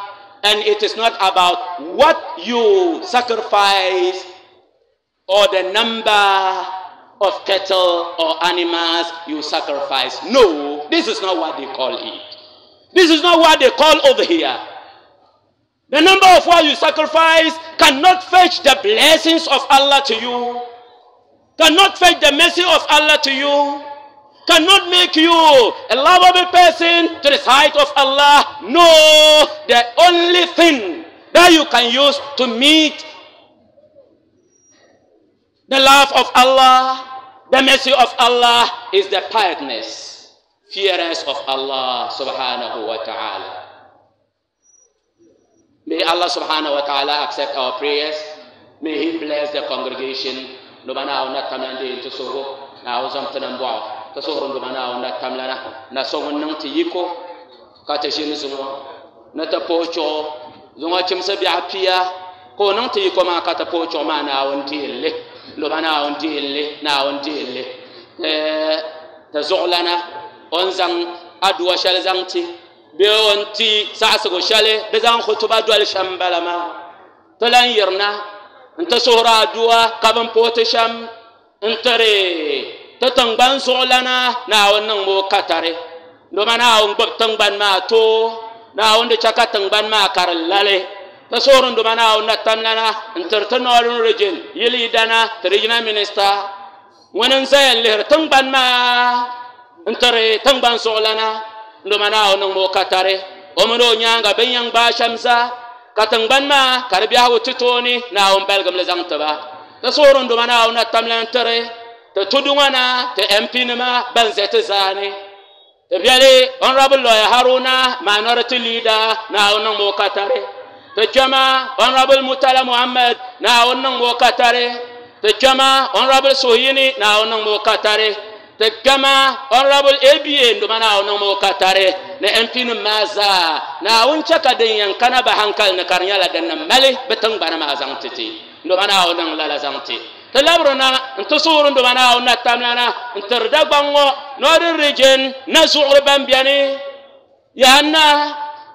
And it is not about what you sacrifice or the number of cattle or animals you sacrifice. No, this is not what they call it. This is not what they call over here. The number of what you sacrifice cannot fetch the blessings of Allah to you, cannot fetch the mercy of Allah to you, cannot make you a lovable person to the sight of Allah. No, the only thing that you can use to meet the love of Allah, the mercy of Allah, is the piousness, fearness of Allah subhanahu wa ta'ala. May Allah subhanahu wa ta'ala accept our prayers. May He bless the congregation. Na ti tingbani zuɣulana Naawuni niŋ o katari doma Naawuni gbubi tingbani maa too Naawuni di chɛ ka tingbani maa ka di lali ti suhuri doma Naawuni na tamlana n tiri ti Northern Region yilidana ti regional minister ŋuni n zaya n lihiri tingbani maa n tiri tingbani zuɣulana doma Naawuni niŋ o katari o mini o nyaanga bin yɛn gbaai shɛm zaa ka tingbani maa ka di biɛhigu ti tooni Naawuni baligim li zaŋ tiba ti suhuri doma Naawuni na tamlana tiri ti tudu ŋɔ na ti M P nima ban ʒɛ ti zaani ti biɛli Honorable Lawyer Haruna minority leader Naawuni niŋ o katari ti kpɛma Honorable Murtala Muhammad Naawuni niŋ o katari ti kpɛma Honorable Suhuyini Naawuni niŋ o katari ti kpɛma Honorable A B A ndoma Naawuni niŋ o katari ni M P nim maa zaa Naawuni chɛ ka din yɛn kana ba hankali ni ka di nyɛla din ni mali bi tingbana maa zaŋ ti ti ndoma Naawuni niŋ lala zaŋ ti ti labirina n ti suhuri ndoma Naawuni na tamlana n tiri Dagbaŋ ŋɔ Northern Region na zuɣuri ban biɛni yahanna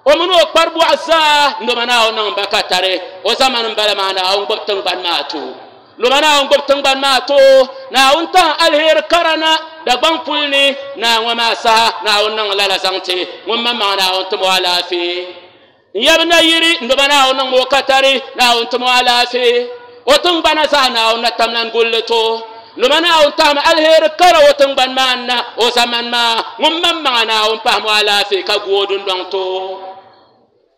o mini o kpari bɔɣu zaa ndoma Naawuni niŋ ba katari o zamani n bala maa Naawuni gbubi tingbani maa too ndoma Naawuni gbubi tingbani maa too Naawuni tahi aliheri kara na Dagbaŋ puli ni naa ŋɔ maa saha Naawuni niŋ lala zaŋ ti ŋun maŋmaŋ Naawuni timi o alaafee n yɛbi nayiri ndoma Naawuni niŋ o katari Naawuni timi o alaafee o tingbana zaa Naawuni na tamlan gulli to ndoma Naawuni tahimi aliheri kara o tingbani maa na o zamani maa ŋun maŋmaŋa Naawuni pahimi o alaafee ka gu o dundɔŋ to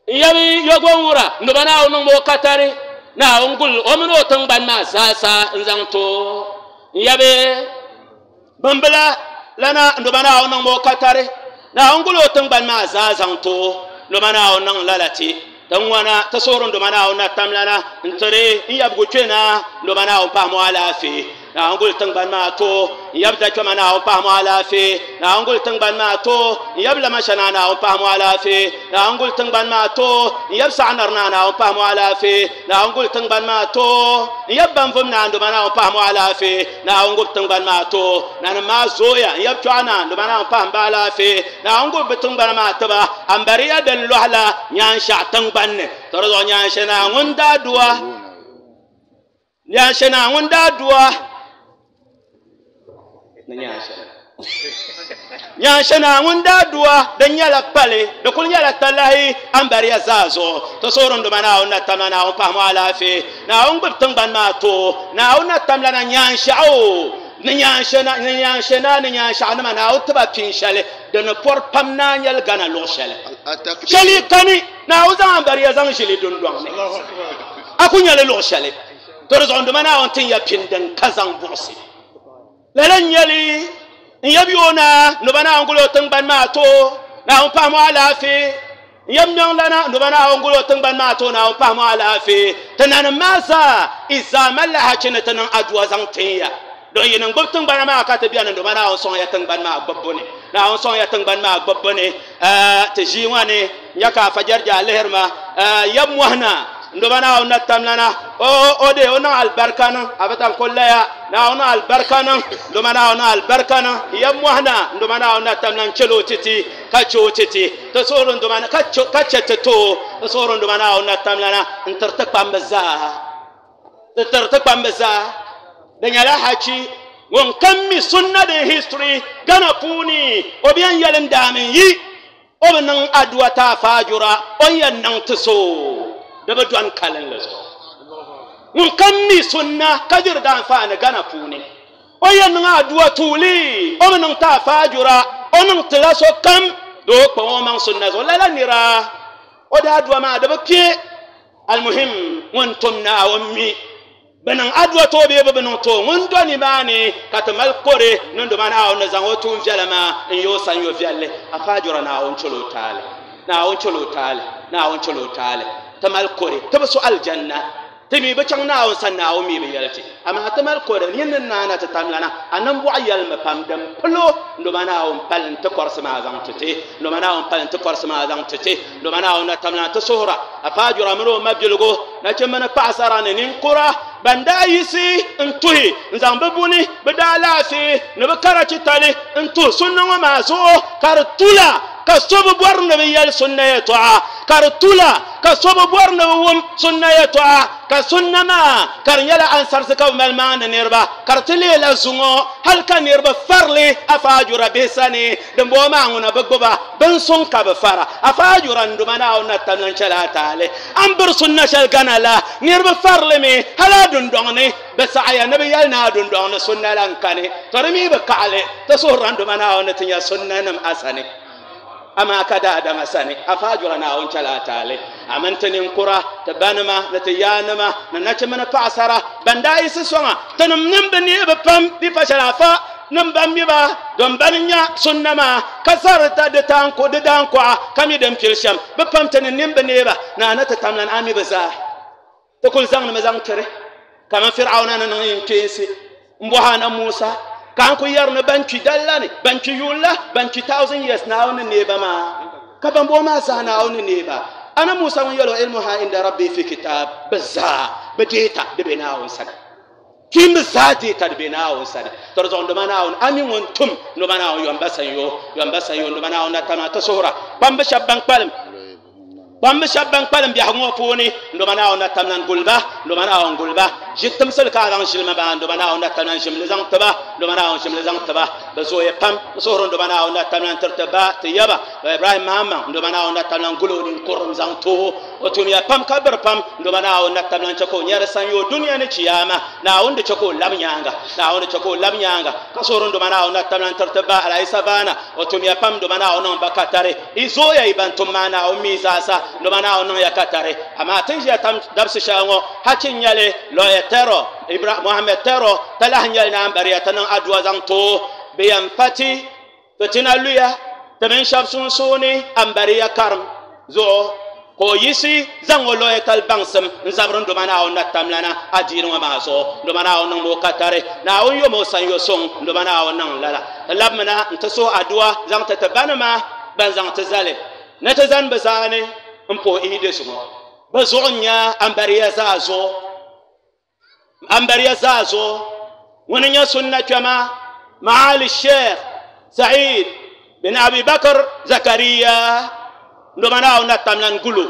n yɛbi yogonwura ndoma Naawuni niŋ o katari Naawuni gul o mini o tingbani maa zaasa n zaŋ to n yɛbi bimbila lana ndoma Naawuni niŋ o katari Naawuni gul o tingbani maa zaa zaŋ to ndoma Naawuni niŋ lala ti tin ŋɔna ti suhuri ndoma Naawuni na tamlana n tiri n yɛbigu kpɛna ndoma Naawuni pahimi o alaafee Naawuni gul tingbani maa to n yɛbi dakpɛma Naawuni pahimi o alaafee Naawuni gul tingbani maa to n yɛbi lamashana Naawuni pahimi o alaafee Naawuni gul tingbani maa to n yɛbi saɣanari naa Naawuni pahimi o alaafee Naawuni gul tingbani maa to n yɛbi banvum naa ndoma Naawuni pahimi o alaafee Naawuni gul tingbani maa to nanim maa zooya n yɛbi kpɛɣu naa ndoma Naawuni pahimi ba alaafee Naawuni gul bi tingbana maa tiba ambariya din lɔhila nyaanshaɣu tingbani ni to di zuɣu nyaanshe naa ŋun daa duwa nyaanshe naa ŋun daa duwa nyaanshe naa ŋun daa duwa din nyɛla pali di kuli nyɛla talahi ambariya zaa zuɣu ti suhuri ndoma Naawuni na tamla Naawuni pahimi o alaafee Naawuni gbubi tingbani maa too Naawuni na tamla na nyaanshaɣu ni nyaanshe na ni nyaanshe na ni nyaanshaɣu nima Naawuni tiba pin shɛli di ni pɔri pam naa nyɛli Gana luɣu shɛli shɛli kani Naawuni zaŋ ambariya zaŋ ʒili dundɔŋ ni a ku nyɛli luɣu shɛli to di zuɣu ndoma Naawuni tin ya pin din ka zaŋ buɣusi lala n nyɛli n yɛbi o na ndoma Naawuni guli o tingbani maa too Naawuni pahimi o alaafee n yɛbi miɛŋ lana ndoma Naawuni guli o tingbani maa too Naawuni pahimi o alaafee ti nanim maa zaa i zaa malila hachi ni ti niŋ aduwa zaŋ tin ya don yi niŋ gbubi tingbana maa ka ti biɛni ndoma Naawuni sɔŋ ya tingbani maa gbubbu ni Naawuni sɔŋ ya tingbani maa gbubbu ni ti ʒii ŋɔ ni n nya ka afa jɛrija alihiri ma yɛbi mɔhina ndoma Naawuni na tamlana o o de o niŋ alibarika niŋ a bi tan ko laya Naawuni niŋ alibarika niŋ ndoma Naawuni niŋ alibarika niŋ yɛbi mɔhina ndoma Naawuni na tamlana n chɛli o titi ka chɛ o titi ti suhuri ndoma ka chɛ ti too ti suhuri ndoma Naawuni na tamlana n tiri ti kpambi zaa ti tiri ti kpambi zaa di nyɛla hachi ŋun kam mi sunna din history Gana puuni o bi yɛn yɛli n daami yi o bi niŋ aduwa ta faajura o ni yɛn niŋ ti so di bi dɔni kalinli zuɣu ŋun kam mi sunna ka diri daanfaani Gana puuni o yɛn niŋ aduwa tuuli o bi niŋ ta faajura o niŋ tila so kam di o kpaŋ o maŋ sunna zuɣu lala nira o daa aduwa maa di bi kpe almuhim ŋun tum Naawuni mi bi niŋ aduwa too bee bi bi niŋ too ŋun do nimaani ka ti mali kore ni ndoma Naawuni ni zaŋ o tuun viɛla maa n yi o sanyo viɛlli a faajura Naawuni chɛl o taali Naawuni chɛl o taali Naawuni chɛl o taali ti mali kore ti bi so alijanna ti mi bi chaŋ Naawuni sani Naawuni mi bi yɛli ti amaa ti mali kore nyin ni naana ti tamlana a nimbɔɣu yɛlimi pam din pilo ndoma Naawuni pali n ti kɔrisi maa zaŋ ti ti ndoma Naawuni pali n ti kɔrisi maa zaŋ ti ti ndoma Naawuni na tamlana ti suhura a faajura mini o mabiligu nachimba ni paɣasara ni ninkura ban daa yisi n tuhi n zaŋ bi buni bi daa laafee ni bi karachi tali n tuhi sunna ŋɔ maa zuɣu ka di tula ka so bi bɔri ni bi yɛli sunna yɛltɔɣa ka di tula ka so bi bɔri ni bi wum sunna yɛltɔɣa Ka sunna maa ka di nyɛla ansarisi ka bi mali maandi niriba ka di ti leela zuŋɔ hali ka niriba farili afaajura bihi sani din bɔŋɔ maa ŋuna bi gbuba bin suŋ ka bi fara afaajura n duma Naawuni na tam lan chɛla a taali an biri sunna shɛli gana la niriba farili mi hali a dundɔŋ ni bi saɣaya ni bi yɛli ni a dundɔŋ ni sunna la n kani to di mi bi kaɣali ti suhurila n duma Naawuni ni ti nya sunnanim a sani amaa ka daadama sani afaajura Naawuni chɛla a taali amin ti ninkura ti banima ni ti yaanima ni nachimba ni paɣasara ban daa yiɣisi sɔŋa tinim nim bi neei bi pam di pa shɛli afa nim ban mi ba don bani nya sunna maa ka zari ta di taanku di daankuɣa ka mi din pili shɛm bi pam ti ni nim bi neei ba naa ni ti tamlan a mi bi zaa ti kuli zaŋdimi zaŋ tiri kaman Fir'auna ni niŋ yin kpeensi n bɔhi ana Musa ka an ku yɛri ni ban kpi dalla ni ban kpi yuun la ban kpi thousand years Naawuni ni neei ba maa ka ban bɔŋɔ maa zaa Naawuni ni neei ba ana Musa ŋun yɛli o ilmuha inda rabbi fi kitab bi zaa bi deeta di be Naawuni sani kpimbi zaa deeta di be Naawuni sani to di zuɣu nduma Naawuni a mi ŋun tum nduma Naawuni yɔmba sanyo yɔmba sanyo nduma Naawuni na tama ti suhura kpambi shɛba ban kpalim kpambi shɛba ban kpalim biɛhigu ŋɔ puuni nduma Naawuni na tamlan guliba nduma Naawuni guliba ʒi timsili ka a zaŋ ʒilima maa nduma Naawuni na tamlan ʒimli zaŋ tiba nduma Naawuni ʒimli zaŋ tiba bi zooya pam n suhuri nduma Naawuni na tamlan tiri ti ba ti yaba Ibrahim Mahama nduma Naawuni na tamlan guli o ninkurim zaŋ too o tumiya pam ka biri pam nduma Naawuni na tamlan chɛ ka o nyɛri sanyoo dunia ni chiyaama Naawuni di chɛ ka o labi nyaanga Naawuni di chɛ ka o labi nyaanga ka suhuri nduma Naawuni na tamlan tiri ti ba Alayi Savana o tumiya pam nduma Naawuni niŋ ba katari i zooya i ban tum maa Naawuni mi zaasa nduma Naawuni niŋ ya katari amaa tin ʒiya tam dabisi shɛli ŋɔ hachi n nyɛli lɔya tɛrɔ Ibra Muhammad tɛrɔ talahi nyɛli naan bariya ti niŋ aduwa zaŋ too bi yɛn pati fitina luya ti mini shɛba sunsuuni ambariya karim zuɣu ka o yiɣisi zaŋ o lɔya tali baŋsim n zabiri nduma Naawuni na tamlana adiini ŋɔ maa zuɣu nduma Naawuni niŋ o katari Naawuni yom o sanyo suŋ nduma Naawuni niŋ lala ti labimina n ti suhi aduwa zaŋ ti ti banima ban zaŋ ti zali ni ti zani bi zaani n puhi idi zuŋɔ bi zuɣu n nyɛ ambariya zaa zuɣu ambariya zaa zuɣu ŋuni nyɛ sunna kpɛma Maali Sheikh Said bin Abi Bakr Zakariya nduma Naawuni na tamlan gulo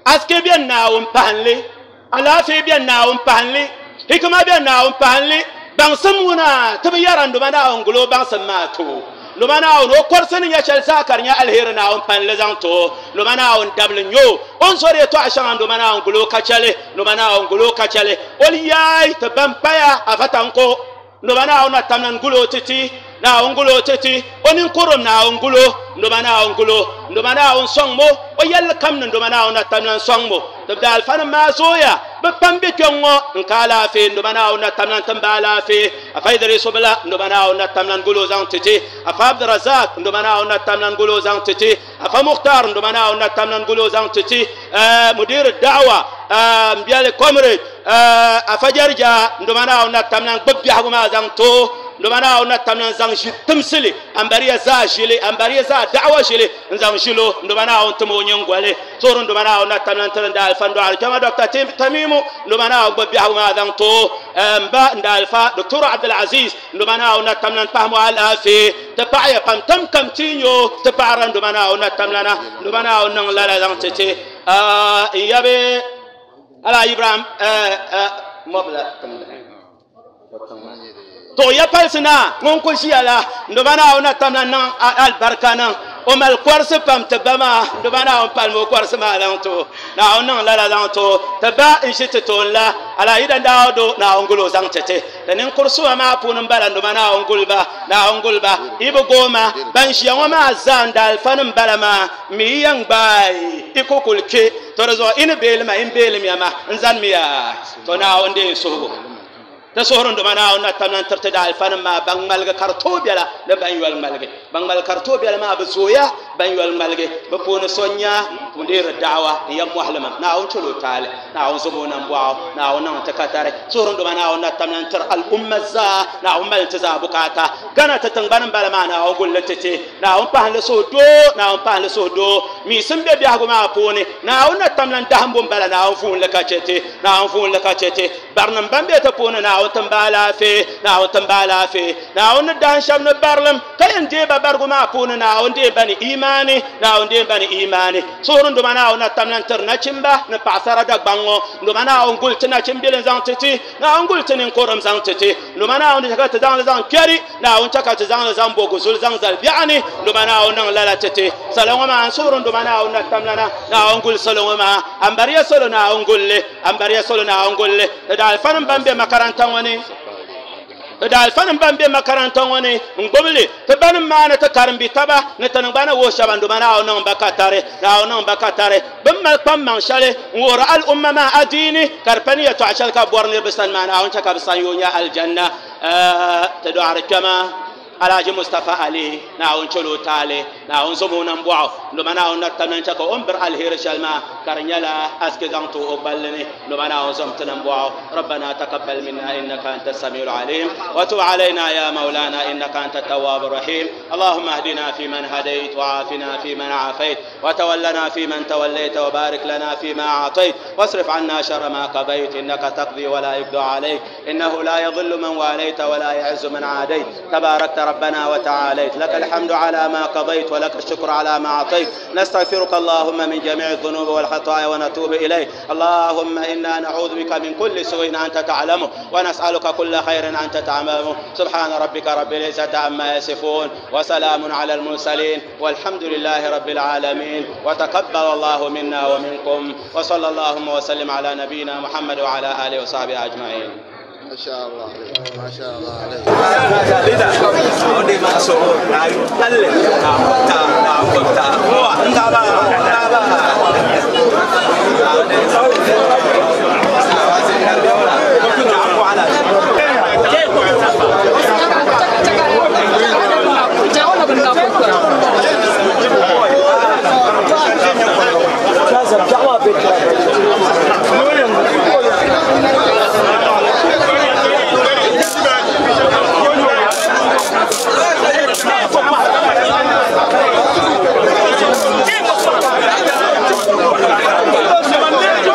aske bɛ Naawuni pahinli alaafee bɛ Naawuni pahinli hikima bɛ Naawuni pahinli baŋsim ŋuna ti bi yɛra nduma Naawuni gulo baŋsim maa too nduma Naawuni o kɔrisi ni nyɛ shɛli zaa ka di nyɛ aliheri Naawuni panli zaŋ too nduma Naawuni dabili nyɛ o o ni sori yɛltɔɣa shɛŋa nduma Naawuni gulo ka chɛli nduma Naawuni gulo ka chɛli o yaai ti ban paya afatanko nduma Naawuni na tamlan gulo titi Naawuni gulo titi o ninkurim Naawuni gulo nduma Naawuni gulo nduma Naawuni sɔŋ mo o yɛlli kam ni nduma Naawuni na tamlan sɔŋ mo ti bi alifanim maa zooya bi pam be kpɛŋ ŋɔ n ka alaafee nduma Naawuni na tamlan tin ba alaafee afa Idrisu bila nduma Naawuni na tamlan gulo zaŋ titi afa Abdurazak nduma Naawuni na tamlan gulo zaŋ titi afa Mukhtar nduma Naawuni na tamlan gulo zaŋ titi mudir da'wa n biɛli comrade afa Jarja nduma Naawuni na tamlan gbubi biɛhigu maa zaŋ too nduma Naawuni na tamlan zaŋ ʒi timsili ambariya zaa ʒili ambariya zaa da'wa ʒili n zaŋ ʒilo nduma Naawuni tim o nyingoli suhuri nduma Naawuni na tamlan tiri n da alifa n dɔɣiri kpɛma Dr. Tamimu nduma Naawuni gbubi biɛhigu maa zaŋ too n ba n da alifa Dr. Abdulaziz nduma Naawuni na tamlan pahamo alaafee ti paɣaya pam tam kam ti nyo ti paɣara nduma Naawuni na tamlana nduma Naawuni niŋ lala zaŋ ti ti n yabi ala Ibrahim mɔbila to ya palisi na ŋun ku ʒiya la nduma Naawuni na tamla niŋ alibarika niŋ o mali kɔrisi pam ti ba maa nduma Naawuni palimi o kɔrisi maa zaŋ to Naawuni niŋ lala zaŋ to ti ba n ʒi ti tooni la ala yidan daawudu Naawuni guli o zaŋ ti ti ti ninkuri suma maa puuni n bala nduma Naawuni guli ba Naawuni guli ba i bi gooma ban ʒiya ŋɔ maa zaa n da alifanim bala maa mi yi yɛn gbaai i ku kuli kpe to di zuɣu i ni beelima i ni beelimiya ma n zanimiya to Naawuni deei suhigu ti suhuri nduma Naawuni na tamlan tiriti da alifanim maa ban ŋmaligi ka di tooi biɛla ni ban yoli ŋmaligi ban ŋmaligi ka di tooi biɛla maa bi zooya ban yoli ŋmaligi bi puuni so n nya mudir da'wa n yɛn mɔhilima Naawuni chɛl o taali Naawuni zom o nambɔɣu Naawuni niŋ ti katari suhuri nduma Naawuni na tamlan tiri al'umma zaa Naawuni mali ti zaa bukaata Gana ti tingbani n bala maa Naawuni gulli ti ti Naawuni pahinli suhu doo Naawuni pahinli suhu doo miisim be biɛhigu maa puuni Naawuni na tamlan dahimbu n bala Naawuni fuunli ka chɛ ti Naawuni fuunli ka chɛ ti barinim ban be ti puuni Naawuni Naawuni timba alaafee Naawuni timba alaafee Naawuni ni dahin shɛba ni barilim ka yɛn deei ba barigu maa puuni Naawuni deei ba ni imaani Naawuni deei ba ni imaani suhuri n duma Naawuni na tamla n tiri nachimba ni paɣasara Dagbaŋ ŋɔ n duma Naawuni guli ti nachimbili n zaŋ ti ti Naawuni guli ti ninkurim zaŋ ti ti n duma Naawuni chɛ ka ti zaŋli zaŋ kpɛri Naawuni chɛ ka ti zaŋli zaŋ bo guzuli zaŋ zali biɛɣu ni n duma Naawuni niŋ lala ti ti salo ŋɔ maa n suhuri n duma Naawuni na tamlana Naawuni guli salo ŋɔ maa ambariya salo Naawuni gulli ambariya salo Naawuni gulli ti daalifanim ban be makaranta ŋɔ ni ti daalifanim ban be makaranta ŋɔ ni n gbubili ti banim maa ni ti karimbi taba ni ti niŋgbana wuhi shɛba n duma Naawuni niŋ ba ka tari Naawuni niŋ ba ka tari bin mali kpaŋmaŋ shɛli n wuhiri al'umma maa adiini ka di pa ni yɛltɔɣa shɛli ka bɔri niriba sani maa Naawuni chɛ ka bi san yoo nyɛ aljanna ti dɔɣiri kpɛma Alhaji Mustafa Ali Naawuni chɛl o taali Naawuni zom o nambɔɣu n duma Naawuni na tamla n chɛ ka o ni biri aliheri shɛli maa ka di nyɛla asiki zaŋ ti o gballi ni n duma Naawuni zom ti nambɔɣu ربنا تقبل منا إنك أنت السميع العليم وتب علينا يا مولانا إنك أنت التواب الرحيم اللهم اهدنا فيمن هديت وعافنا فيمن عافيت وتولنا فيمن توليت وبارك لنا فيما أعطيت واصرف عنا شر ما قضيت إنك تقضي ولا يقضى عليك إنه لا يضل من واليت ولا يعز من عاديت تباركت ربنا وتعاليت لك الحمد على ما قضيت ولك الشكر على ما أعطيت نستغفرك اللهم من جميع الذنوب والخطايا ونتوب إليك اللهم إنا نعوذ بك من كل سوء أنت تعلمه ونسألك كل خير أنت تعلمه سبحان ربك رب العزة عما يصفون وسلام على المرسلين والحمد لله رب العالمين وتقبل الله منا ومنكم وصلى اللهم وسلم على نبينا محمد وعلى آله وصحبه أجمعين. ما شاء الله عليك ما شاء الله عليك. Thank you.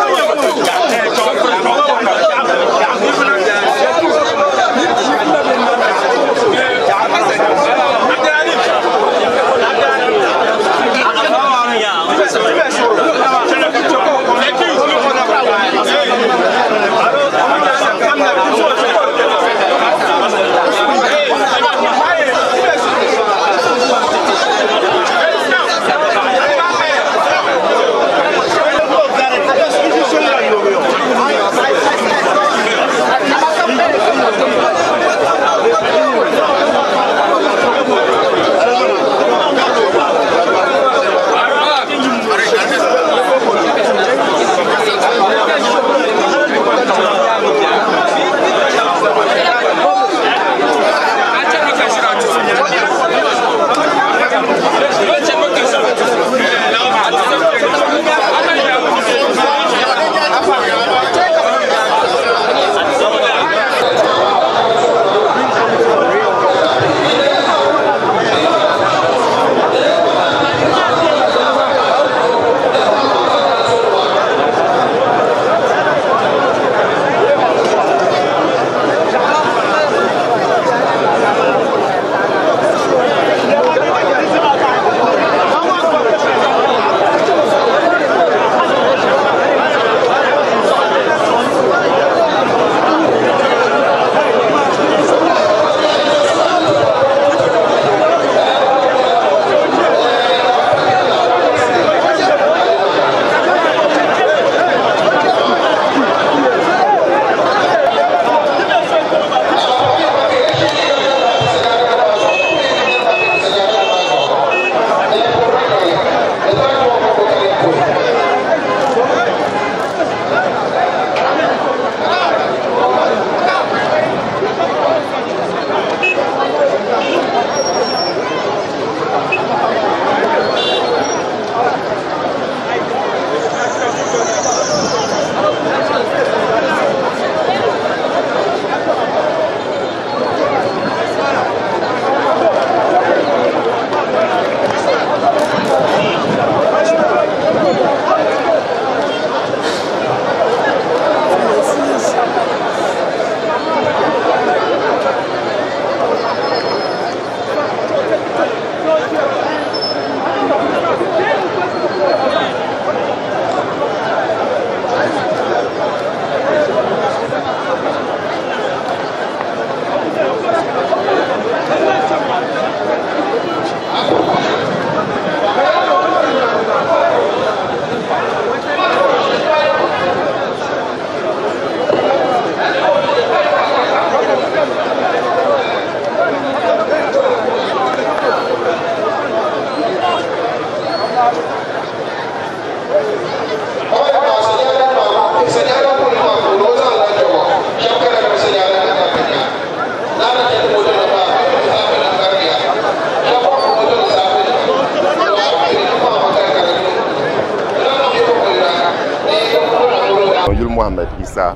Yuli Muhammad Isa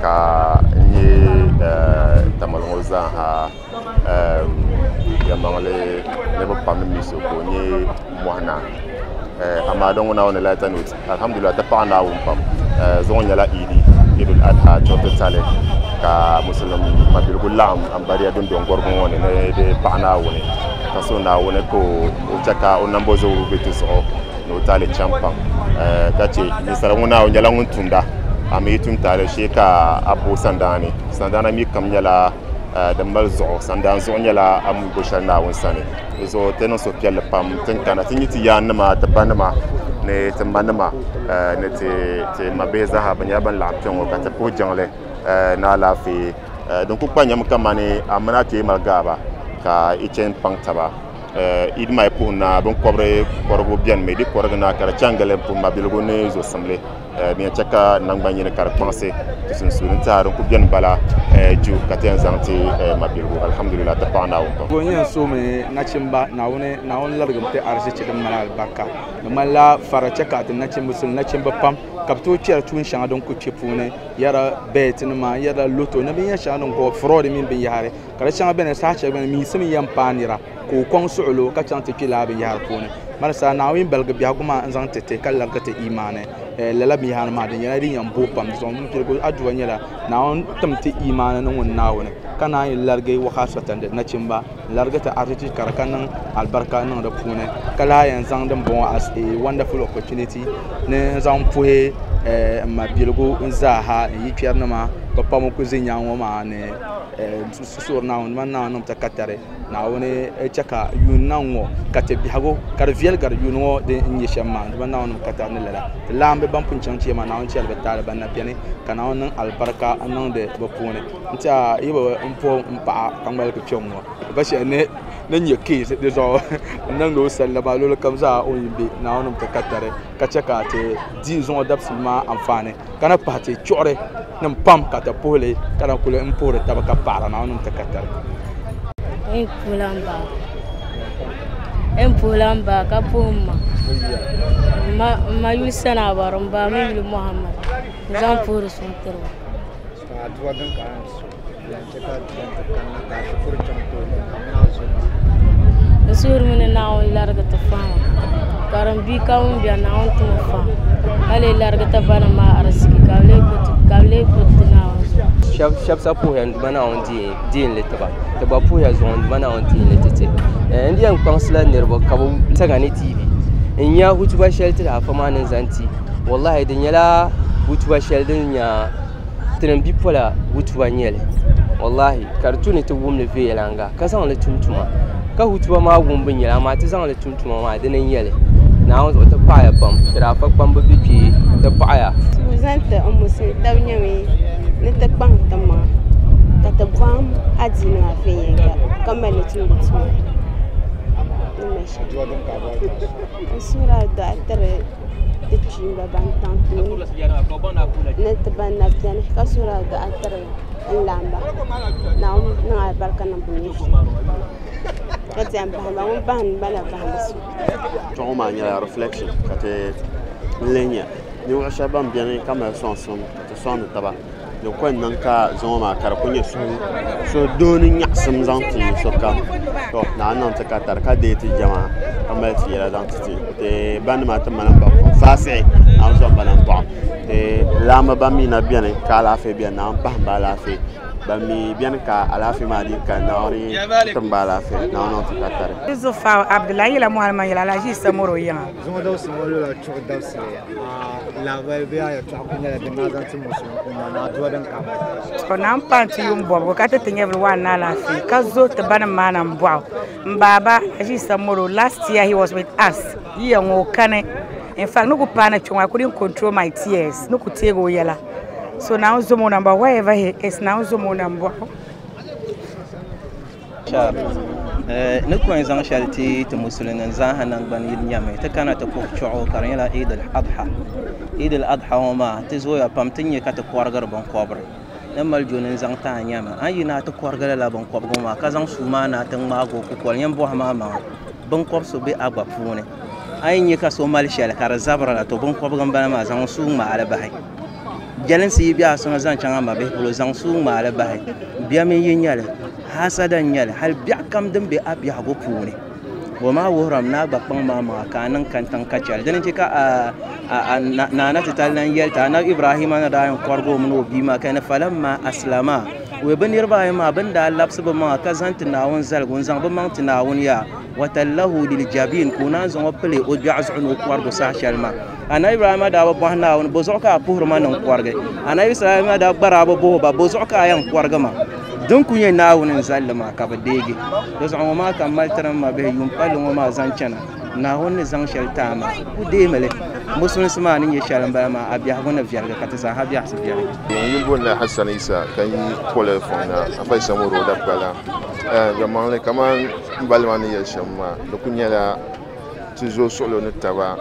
ka n nyɛ Tamale ŋɔ zaaha yɛlimaŋli niriba pam ni mi so ka o nyɛ Mɔhina. Amaa din ŋɔ Naawuni lahi note alhamdulillah ti paɣa Naawuni pam zuŋɔ nyɛla Idi Idul Adha chuɣu titali ka musulum mabiligu laɣim ambariya dundɔŋ gɔrigu ŋɔ ni ni di paɣa Naawuni ka so Naawuni ka o chɛ ka o nambo zuɣu be ti zuɣu ni o taali chaŋ pam ka che ninsala ŋɔ Naawuni nyɛla ŋun tumda a mi yi tum taali shee ka a bo sandaani sandaana mi kam nyɛla din mali zuɣu sandaan zuɣu nyɛla a mi bo shɛli Naawuni sani di zuɣu ti niŋ suhupiɛlli pam tin kana ti nyɛ ti yaannima ti banima ni ti manima ni ti ti mabihi zaaha bi nyɛla ban laɣim kpɛ ŋɔ ka ti puhi jiŋli ni alaafee din ku kpa nyɛmi kamani a mini a kpee mali gaaba ka i chɛn paŋ taba Eid maa yi puhi na binkɔbiri kɔrigu biɛni mi di kɔrigi na ka di chaŋ gili n puhi mabiligu ni zuɣusimli din yɛn chɛ ka nangbani yini ka di kpaŋsi ti sunsuuni n tiɛha din ku biɛni bala ju ka ti yɛn zaŋ ti mabiligu alhamdulillah ti paɣa Naawuni pam. N yɛn soomi nachimba Naawuni Naawuni larigim ti arizichi din mali alibarika di ŋmanila fara chɛ ka ti nachimba suli nachimba pam ka bi tooi kpɛri tuun shɛŋa din ku kpɛ puuni yɛra bet nima yɛra loto ni binyɛri shɛŋa din ko fraud mini binyahari ka di shɛŋa biɛni saha shɛli biɛni miisim yɛn paai nira ka o kɔŋ suɣulo ka chaŋ ti kpɛ laa binyahari puuni marisa Naawuni baligi biɛhigu maa n zaŋ ti ti ka larigi ti imaani lala binyahari maa di nyɛla din yɛn booi pam di zuɣu n piligu aduwa nyɛla Naawuni tim ti imaani ni ŋun Naawuni ka naan yi larigi wakasatandi nachimba n larigi ti arizichi ka di ka niŋ alibarika niŋ di puuni ka lahi yɛn zaŋ din bɔŋɔ as a wonderful opportunity ni n zaŋ puhi n mabiligu n zaaha n yi kpɛrinima bi pam ku ʒɛ nyaanŋɔ maa ni suhuri Naawuni man Naawuni niŋ ti katari Naawuni chɛ ka yuun na ŋɔ ka ti biɛhigu ka di viɛli gari yuun ŋɔ din nyɛ shɛm maa man Naawuni niŋ katari ni lala ti laambi ban pun chaŋ chɛ maa Naawuni chɛli bi taali ban na biɛni ka Naawuni niŋ alibarika n niŋdi bi puuni n tiɛha yi bi n puhi n paɣa ka ŋmaligi kpɛm ŋɔ ba shɛli ni ni nyɛ keesi di zuɣu n niŋdi o sallama luɣuli kam zaa o ni bɛ Naawuni niŋ ti katari ka chɛ ka ti di zuŋɔ dabisili maa anfaani ka na pahi ti chuɣuri nim pam ka ti puhili ka na kuli n puhiri taba ka paɣara Naawuni niŋ ti katari. N puhila n ba n puhila n ba ka puhi n ma n ma yuli Sana Bari n ba mi yuli Muhammad n zaŋ puhiri suŋ tiri ba. N suhurimi ni Naawuni larigi ti fahama ka din bia ka ŋun biɛni Naawuni timi faham ka lee larigi ti banim maa ariziki ka bi lee gbubi ti Naawuni zuɣu. Shɛba sa puhiya n Duuma Naawuni deenli tiba ti gba puhiya zuŋɔ n Duuma Naawuni deenli ti ti n di yɛn kpaŋsila niriba ka bi saga ni T V n nya hutuba shɛli ti afa maa ni zaŋ ti wallahi di nyɛla hutuba shɛli din nya tinim bipola hutuba nyɛli wallahi ka di tu ni ti wumli viɛnyɛlinga ka zaŋli tum tuma ka hutuba maa wumbu nyɛla amaa ti zaŋli tum tuma maa dini n nyɛli Naawuni zuɣu ti paɣaya pam ti daa fa kpamba bɛ kpee ti paɣaya. Tubu zaŋ ti n musulin taba nyɛmi ni ti kpaŋ ti maŋa ka ti bɔhim adiini maa viɛnyɛlinga ka mali li tumdi tuma n suhuri adua tiri ti kpiimba ban taŋ tooni ni ti ban na biɛni ka suhuri adua tiri n laamba Naawuni niŋ alibarika niŋ bi nyɛ ka ti yɛn bahimba ŋun bahindi ba na bahindi so. Chuɣu maa nyɛla reflection ka ti n lihi nya ninvuɣu shɛba ban biɛni ka mali sɔŋsim ka ti sɔŋdi taba di ko n niŋ ka zuŋɔ maa ka di ku nyɛ suhudoo ni nyaɣasim zaŋ ti sokam to Naawuni niŋ ti katari ka deei ti jɛma ka mali ti yɛla zaŋ ti ti ti banima ti mali ba faasihi Naawuni zɔm ba nambɔɣu ti laamba ban mi na biɛni ka alaafee biɛni Naawuni pahim ba alaafee ban mi biɛni ka alaafee maa di ka Naawuni tim ba alaafee Naawuni niŋ ti katari. Yusufa Abdullahi yɛla Muhammad yɛla Alhaji Samoro yiŋa. Zuŋɔ dabisili ŋɔ loola chuɣu dabisili lahabali bee a yɛltɔɣa ku nyɛla din daa zaŋ ti musulin umma ni aduwa din ka. To na n paai ti yuun bɔbigu ka ti ti nyɛvili waan ni alaafee ka zo ti banim maa na n bɔɣu n baaba Alhaji Samoro last year he was with us yiya ŋɔ o kani in fact ni ku paana kpɛ ŋɔ I couldn't control my tears ni ku teegi o yɛla so Naawuni zom o nambɔɣu wherever he is Naawuni zom o nambɔɣu. Ni ku yɛn zaŋ shɛli ti ti musulin zaaha nangbani yini nyɛmi ti kana ti puhi chuɣu ka di nyɛla Eid al-Adha Eid al-Adha ŋɔ maa ti zooya pam ti nyɛ ka ti kɔrigiri binkɔbiri ni mali joni n zaŋ ti a nyɛmi a yi na ti kɔrigi lala binkɔbigu maa ka zaŋ suu maa na ti ŋmaagi o kukoli yɛn bɔhi maa maŋa binkɔbi so bɛ a gba puuni a yi nyɛ ka so mali shɛli ka di zabiri la to binkɔbigu n bala maa zaŋ suu ŋmaali bahi Jɛlinsi yi bɛ a suŋa zaŋ chaŋ a ma bihi polo zaŋ suu ŋmaali bahi bia mini yi nyɛli hasada n nyɛli hali biɛɣu kam din be a biɛhigu puuni o maa wuhurimi ni a gba kpaŋ maa maŋa ka a niŋ kantiŋ ka chɛli dini n-chɛ ka naana titali lan yɛli ti anabi Ibrahima ni daa yɛn kɔrigi o mini o bia maa ka ni falamma aslama o bɛ niriba ayi maa bɛ ni daa labisi bɛ maŋa ka zaŋ ti Naawuni zaligu n-zaŋ bɛ maŋ ti Naawuni yaa watallahu liljabin ka o naan zaŋ o pili o gbiɛɣu zuɣu ni o kɔrigu saha shɛli maa anabi Ibrahima daa bi bɔhi Naawuni bo zuɣu ka a puhiri ma ni n kɔrigi anabi Ibrahima daa gba daa bi bɔhi o ba bo zuɣu ka a yɛn kɔrigi ma din ku nyɛ Naawuni n zalli maa ka bi deegi di zuɣu ŋɔ maa ka m mali tiri m ma bihi yuun palli ŋɔ maa zaŋ chana Naawuni ni zaŋ shɛli ti a maa ku deemi li musulinsi maa ni nyɛ shɛli n bala maa a biɛhigu ni viɛligi ka ti zaaha biɛhisi viɛligi. N yuli booni la Hassan Isa ka yi poli fɔŋ na Afa Isa Moro Dabgala yɛlimaŋli kamani n bali maa ni yɛli shɛm maa di ku nyɛla ti zooi suɣulo ni taba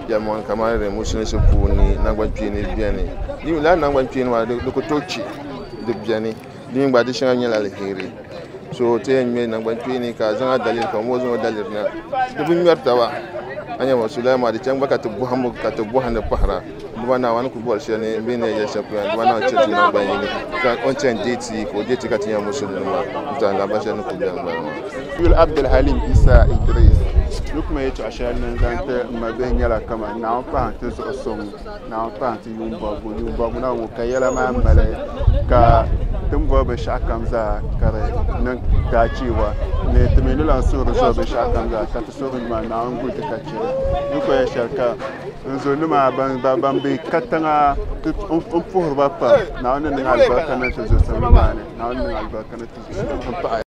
yɛlimaŋli kamani di musulinsi puuni nangbani kpeeni biɛni lala nangbani kpeeni maa di ku tooi chi di biɛni di mini gba di shɛŋa nyɛla alheri so ti yɛn ŋmɛ nangbani kpeeni ka a zaŋ a daliri ka ŋɔ zaŋ o daliri na di bi ŋmɛri taba a nyɛ ma so lala maa di chaŋ gba ka ti bɔhimbu ka ti bɔhindi pahira duba naa ni ku bɔri shɛli ni bɛ ni yɛli shɛli polo duba naa chɛ ti nangbani yini ka o ni chɛni deeti ka o deeti ka ti nyɛ musulinima n tɛha lahabali shɛli ni ku bɛni m-bala maa. Yuli Abdulhalim Isa Idris ni kuma yɛltɔɣa shɛli ni zaŋ ti m ma bihi nyɛla kaman Naawuni pahi ti zuɣu suŋ Naawuni pahi ti yuun bɔbigu yuun bɔbigu na ŋɔ ka yɛla maa mali ka ti ni bɔri binshɛɣu kam zaa ka di niŋ daachiiwa ni ti mi ni lan suhuri zuɣu binshɛɣu kam zaa ka ti suhuri maa Naawuni guli ti ka chɛ li ni ku yɛli shɛli ka n zonima ban be katiŋa n puhiri ba pam Naawuni ni niŋ alibarika niŋ ti zuɣusim maa ni Naawuni niŋ alibarika niŋ ti zuɣusim n paɣi.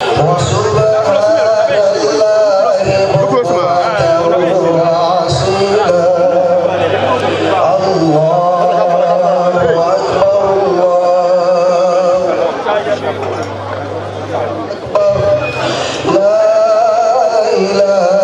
La ilaha